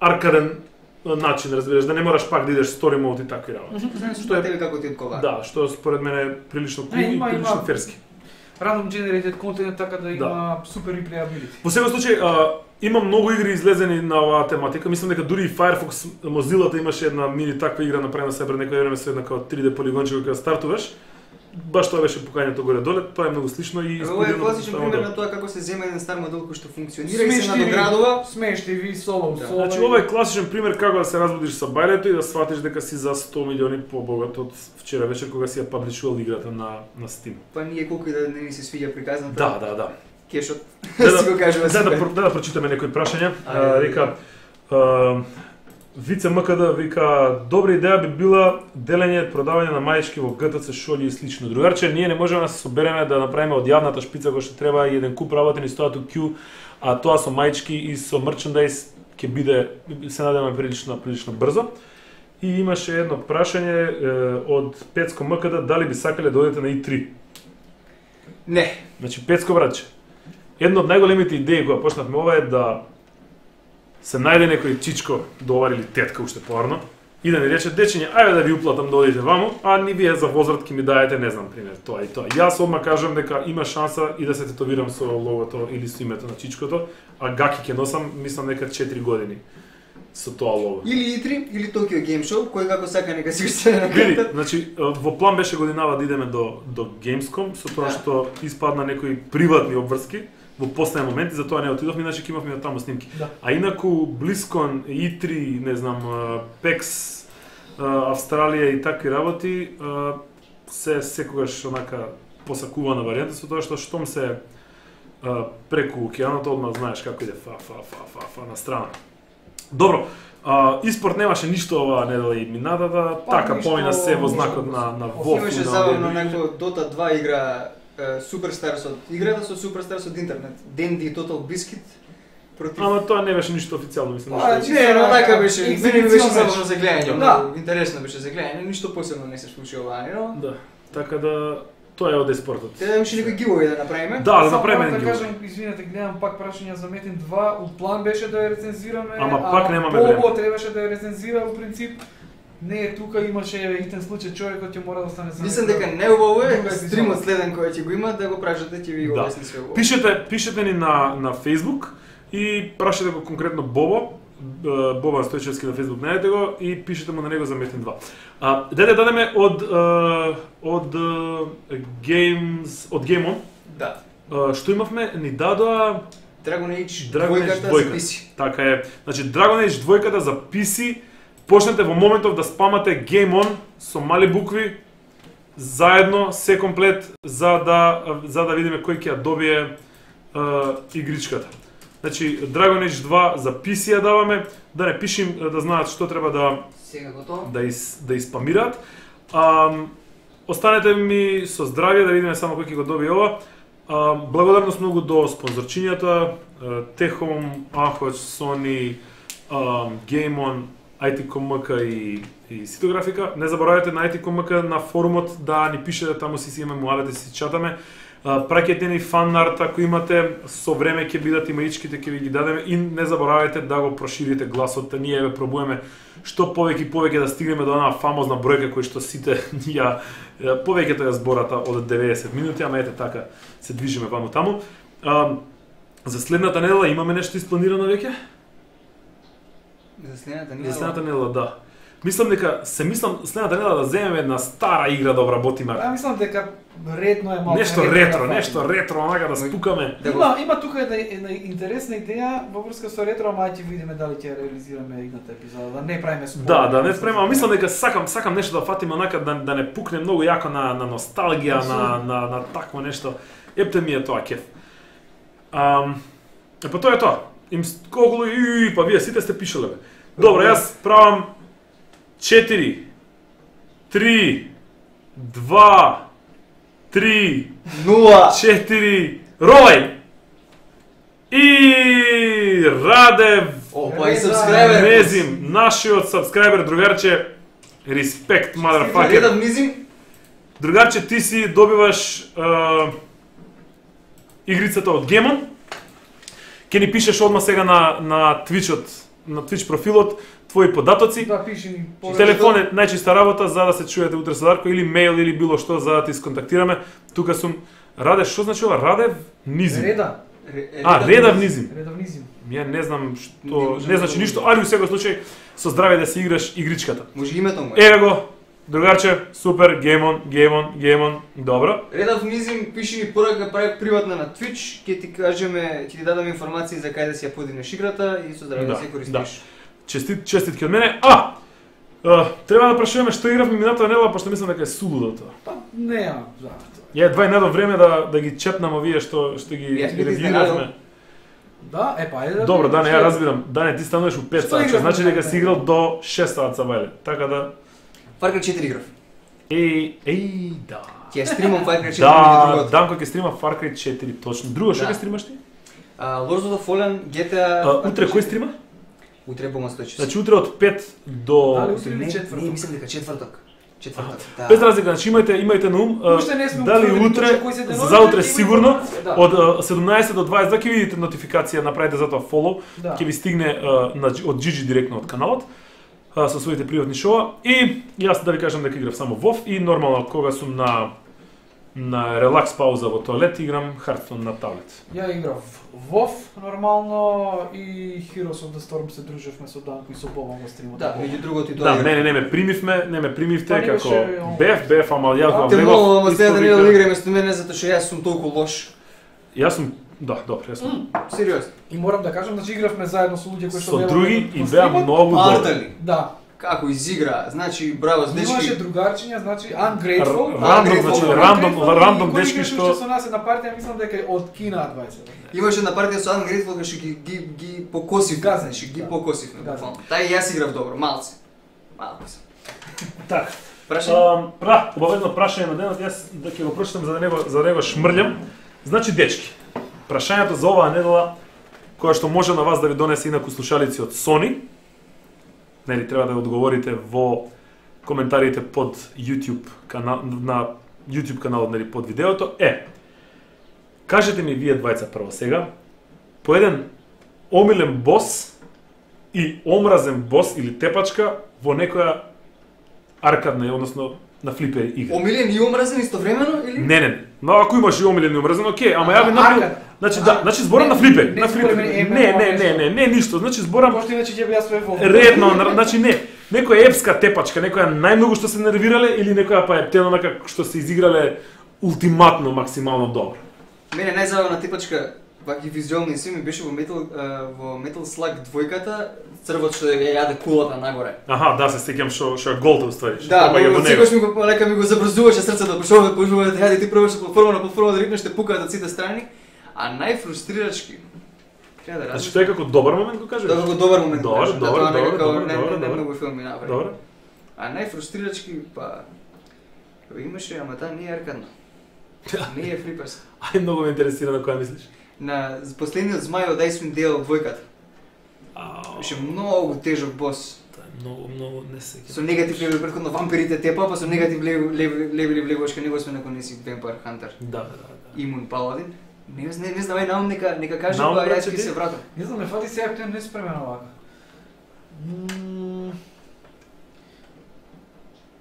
аркаден начин, разбираш, да не мораш пак да идеш story mode и такви работи. Што е тебе како ти одговара? Да, што според мене е прилично кул и прилично ферски. Random generated content така да има супер replayability. Во секој случај има многу игри излезени на оваа тематика. Мислам дека дури и Firefox Mozilla имаше една мини таква игра направена се пред некој време со една како 3D полигонче кога стартуваш. Баш тоа беше покањето горе доле, тоа е многу слично и ова е класичен пример на тоа како се зема еден стар модел кој што функционира и се надоградува. Смешти соло. Значи ова е класичен пример како да се разбудиш со бајлето и да сватиш дека си за 100 милиони побогат од вчера вечер кога си ја паблишувал играта на Steam. Па ние колку и да не ни се свиѓа приказната. Да. Кешот. Си го кажува себе. Да прочитаме некои прашања. Река Вице МКД вика, добра идеја би била делење продавање на маечки во ГТЦ, шолји и слично. Другарче, ние не можеме да се собереме да направиме од јавната шпица која што треба и еден куп работени стојат у кју, а тоа со маечки и со мерчендајз ќе биде, се надеваме прилично брзо. И имаше едно прашање од Пецко МКД, дали би сакале да одите на И3? Не. Значи, Пецко братче, една од најголемите идеи која почнавме ова е да се најде некој чичко довар или тетка уште порано и да ни рече дечиње, ајде да ви уплатам да одите ваму, а ни вие за возраст ќе ми даете, не знам, пример, тоа и тоа. Јас одма кажам дека има шанса и да се тетовирам со логото или со името на чичкото, а гаки ќе носам, мислам нека 4 години со тоа лого. Или И3, или Tokyo Game Show, кој како сака нека си устане на Види, карта. значи во план беше годинава да идеме до Gamescom, со тоа што испадна некои приватни обврски во последен момент и затоа не отидовме, иначе ќе имавме таму снимки. Да. А инаку BlizzCon, E3, не знам, PAX, Австралија и такви работи се секогаш онака посакувана варијанта со тоа што штом се преку океанот одма знаеш како иде фа на страна. Добро, испорт немаше ништо оваа недела и минатата, така помина се во знакот на WoW. Имаше забавно некој Dota 2 игра Superstars од играта со Superstars од интернет. Dendy Total Biscuit против. Ама тоа не беше ништо официјално, мислам. Не, но така беше. Мене беше забавно за гледање. Да. Интересно беше за гледање, ништо посебно не се случи ова, но. Да. Така да тоа е од еспортот. Те имаше некој giveaway да направиме. Да направиме да giveaway. кажам, извинете, гледам пак прашања за Metin 2, у план беше да ја рецензираме, Ама пак немаме време. Бобо требаше да ја рецензира во принцип. Не е тука, имаше итен случај човекот ќе мора да остане за. Мислам дека не убаво е стримот следен кој ќе го има да го прашате, ќе ви го објасни све убаво. Пишете ни на Facebook и прашете го конкретно Бобо Стојчевски на Facebook, најдете го и пишете му на него за Metin 2. Деде дадеме од Game On. Да. Што имавме? Ни дадоа Dragon Age Dragon Age 2 за PC. Така е. Значи Dragon Age 2 за PC. Почнете во моментов да спамате Game On со мали букви заедно се комплет за да видиме кој ќе ја добие игричката. Значи Dragon Age 2 за PC ја даваме, да не пишем да знаат што треба Сега готово. да испамираат. Останете ми со здравје да видиме само кој ќе го добие ова. Благодарност многу до спонзорчињата, Техом, Ахоч, Sony, GameOn, IT.com.mk и Ситографика. Не заборавајте на IT.com.mk на форумот да ни пишете, таму си имаме муавете, си чатаме. Праќајте ни фан арт ако имате, со време ќе бидат имаичките, ќе ви ги дадеме и не заборавајте да го проширите гласот. Ние ве пробуваме што повеќе да стигнеме до онаа фамозна бројка кој што сите ја повеќето ја збората од 90 минути, ама ете така се движиме ваму таму. За следната недела имаме нешто испланирано веќе? За следната недела, да. Мислам дека следната недела да земеме една стара игра да обработиме. Мислам дека редно е малку Нешто ретро, онака да спукаме. Има тука една интересна идеја во врска со ретро, ама ќе видиме дали ќе реализираме идната епизода, да не правиме спойлер. Да не спремам, мислам дека сакам нешто да фатиме онака да не пукне многу јако на носталгија, на такво нешто. Епте ми е тоа кеф. Па тоа е тоа. Па вие сите сте пишале бе. Добро, јас правам 4, 3, 2, 3, 4, ролај! И Радев Опа, и сабскрајбер. Незим, нашиот сабскрајбер другарче, респект, motherfucker. Редав Низим. Другарче, ти си добиваш игрицата од Гемон. Ке ни пишеш одма сега на Twitch-от, на Twitch профилот, твои податоци. Да, пиши ни. Телефон е најчиста работа за да се чуете утре со Дарко, или мејл или било што за да ти сконтактираме. Тука сум Радев, што значи ова? Радев Низим. Редав Низим. Редав Низим. Ја не знам што, не значи ништо, али во секој случај со здравје да си играш игричката. Може името му. Еве го, другарче, супер, геймон, добро. Редав Низим, пиши ми порака, прави приватна на Twitch, ќе ти кажеме, ќе ти дадам информации за кај да си ја подигнеш играта и со здравје да се користиш. Честитки од мене. Треба да прашуваме што игравме минатата недела, пошто мислам дека е сулудо тоа. Па не, да. Ја едва недо време да ги чепнам овие што ги ревјуиравме. Да, ајде. Добро, Дане, ја разбирам. Дане, ти стануваш у 5 саат, значи дека си играл до 6 саат са вајле. Така да Far Cry 4 играв. Да. Ќе стримам Far Cry 4 Да, Данко ќе стрима Far Cry 4, точно. Друго што ќе стримаш ти? Lords of the Fallen, GTA... Утре кој стрима? Утре по мастојче. Значи утре од 5 до... Не, мислам дека четврток. Да. Без разлика, значи имајте на ум, дали утре, за утре сигурно, од 17 до 22 ќе видите нотификација, направите за тоа follow, ќе ви стигне од GG директно од каналот, со своите приватни шоа, и јас да ви кажам дека играв само WoW и нормално кога сум на релакс пауза во тоалет играм Hearthstone на таблет. Ја играв WoW нормално и Heroes of the Storm се дружевме со Данко и со Боба во стримот. Да, меѓу другото и тоа. Да, не ме примивте како бев, ама јас го влегов. Те молам сега да не го играме со мене затоа што јас сум толку лош. Јас сум добро, јас сум. Сериозно. И морам да кажам, значи игравме заедно со луѓе кои што со други и беа многу добри. Да. Како изигра, значи браво с дечки. Имаше другарчиња, значи Ungrateful. Рандом дечки што со нас е на партија, мислам дека е од Кина 20. Имаше на партија со Ungrateful кога што ги покосив, значи ги покосив на буквално. Тај јас играв добро, малце. Так. Прашање? Обавезно прашање на денот, јас да ќе го прочитам за да не го шмрлјам. Значи дечки, прашањето за оваа недела која што може на вас да ви донесе инаку слушалици од Sony, нели треба да одговорите во коментарите под YouTube на YouTube каналот, нели под видеото, кажете ми вие двајца прво сега, по еден омилен бос и омразен бос или тепачка во некоја аркадна, односно на флипери игра. Омилен и омразен истовремено или? Не. Но ако имаш и омилен и омразен, окей, ама ја ви направам. Значи зборам на флипери. Не, ништо. Значи зборам. Пошто иначе ќе би јас све во. Редно, значи не. Некоја епска тепачка, некоја најмногу што се нервирале или некоја па е онака што се изиграле ултиматно максимално добро. Мене најзабавна тепачка, ваки визуелни си ми беше во Metal Slug 2-ката, црвот што ја јаде кулата нагоре. Аха, да, се сеќам што е голта уствари. Да, секогаш ми го лека ми го забрзуваше срцето, почнува да јаде ти пробаш платформа на платформа да рипнеш, те пукаат од сите страни, а најфрустрирачки треба да Значи размислам. тоа е како добар момент го кажеш? Да, како добар момент. Добар, кажам, добар, тоа добар, некако добар, не добар, добар. многу филми направи. Добро. А најфрустрирачки па имаше, ама таа не е аркадна. Не е флиперска. Ај, многу ме интересира на која мислиш. На последниот змај од Icewind Dale двојката. Беше многу тежок бос. Тоа е многу не се Со негатив левели претходно вампирите тепа, па со негатив левели влегуваш кај него сме ако не си Vampire Hunter. Да. Имун Паладин. Не знам, ај наум нека каже, Наум, па брате, јас ќе ти? се вратам. Не знам, ме фати сега ќе не спремен овака.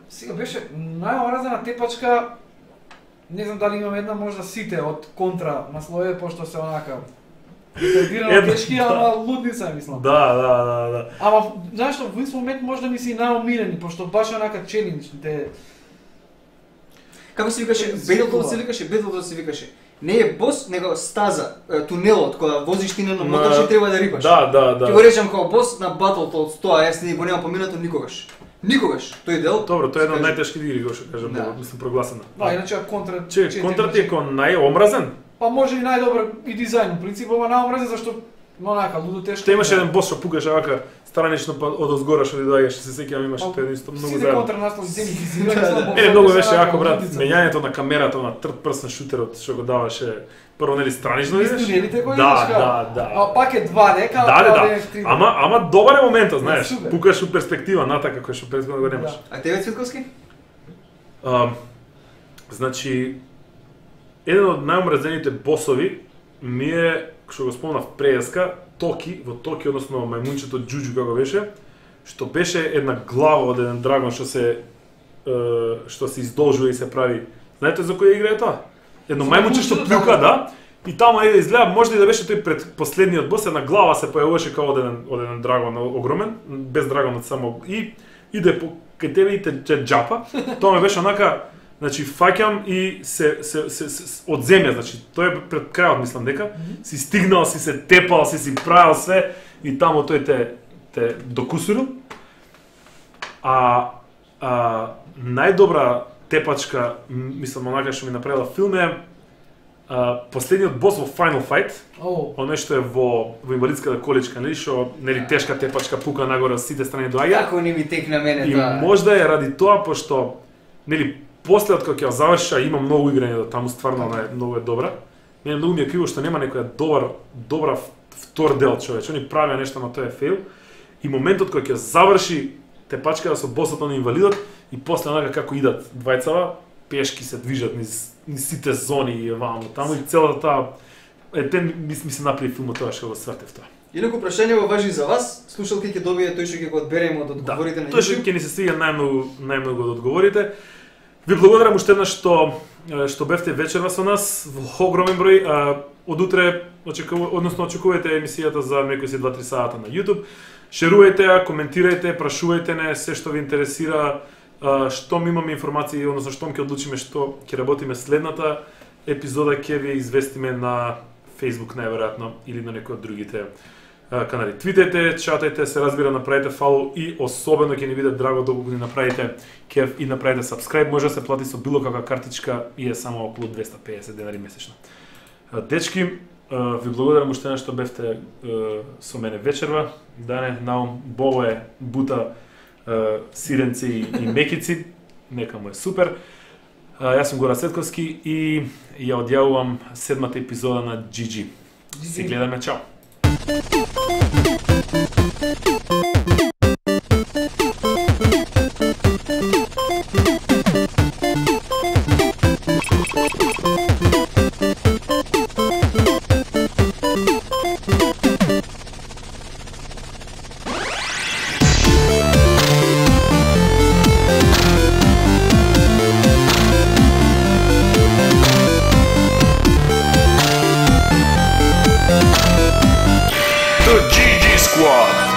Сега беше најомразена тепачка. Не знам дали имам една можда сите од контра насловие, пошто се онака ретардирано Една, да. тешки, ама лудница мислам. Да. Ама знаеш што, во исто момент можда ми си најомилени, пошто баш онака челендж, те Како се викаше? Зикова. Battletoads се викаше. Не е бос, него стаза, тунелот кога возиш ти на моторче треба да рипаш. Да. Ќе го речам како бос на Battletoads, тоа јас не го немам поминато никогаш. Никогаш. Тој дел. Добро, тоа е една од се каже, најтешки игри, го што кажам, Да. мислам прогласена. Да, иначе контра Че, контра ти е кон најомразен? Па може и најдобар и дизајн, во принцип, ама најомразен зашто онака лудо тешко. Те имаше еден бос што пукаше вака странично па од озгора што ти доаѓаш, се сеќавам имаше Па, тоа исто многу Сите заедно. контра наслови земји ги Мене многу беше јако брат, мењањето на камерата на third person шутерот што го даваше прво нели странично Из видиш? тунелите кои Да. А пак е 2D, као Да. 3D. Ама добар е моментот, знаеш, Супер. пукаш у перспектива натака кој што претходно го немаш. А тебе Цветковски? Значи, еден од најомразените босови ми е, што го спомнав преска, Токи, во Токи, односно мајмунчето Джуджу како беше, што беше една глава од еден драгон што се издолжува и се прави. Знаете за која игра е тоа? Едно За мајмунче што мајмунчето, плюка, да, и таму да изгледа, може и да беше тој пред последниот бос, една глава се појавуваше како од еден драгон огромен, без драгонот само, и иде по кај тебе и те џапа. Тоа ме беше онака, значи фаќам и се од земја, значи тој е пред крајот мислам дека си стигнал, си се тепал, си правил све и таму тој те докусурил. Најдобра тепачка, мислам онака што ми направила филм е последниот бос во Final Fight. Оно што е во инвалидската количка, нели што нели тешка тепачка пука нагоре од сите страни доаѓа. Како не ми текна мене И тоа? можда е ради тоа пошто нели после од кога ќе ја заврша има многу играње до таму, стварно многу е добра. Мене многу ми е криво што нема некоја добра втор дел човече. Они правеа нешто, но тоа е фейл. И моментот кога ќе заврши тепачката со босот на инвалидот и после онака како идат двајцава, пешки се движат низ сите зони и ваму таму и целата таа ми се направи филмот тоа што го свртев тоа. Инаку прашање во важи за вас, слушалки ќе добие тој што ќе го одберем од одговорите на Тој што YouTube. ќе ни се свиѓа најмногу од одговорите. Ви благодарам уште еднаш што бевте вечерва со нас во огромен број. Од утре очекувајте емисијата за некои 2-3 сата на YouTube. Шерувајте ја, коментирајте, прашувајте не се што ви интересира, што ми имаме информации, односно што ќе одлучиме што ќе работиме следната епизода, ќе ви известиме на Facebook најверојатно или на некои од другите канали. Твитајте, чатајте, се разбира, направете фолоу и особено ќе ни биде драго доколку ни направите кеф и направите subscribe, може да се плати со било каква картичка и е само околу 250 денари месечно. Дечки, ви благодарам уште што бевте со мене вечерва. Дане, Наум, Бобо е бута сиренци и мекици, нека му е супер. Јас сум Гора Цветковски и ја одјавувам 7-та епизода на GG. Се гледаме, чао! The GG Squad.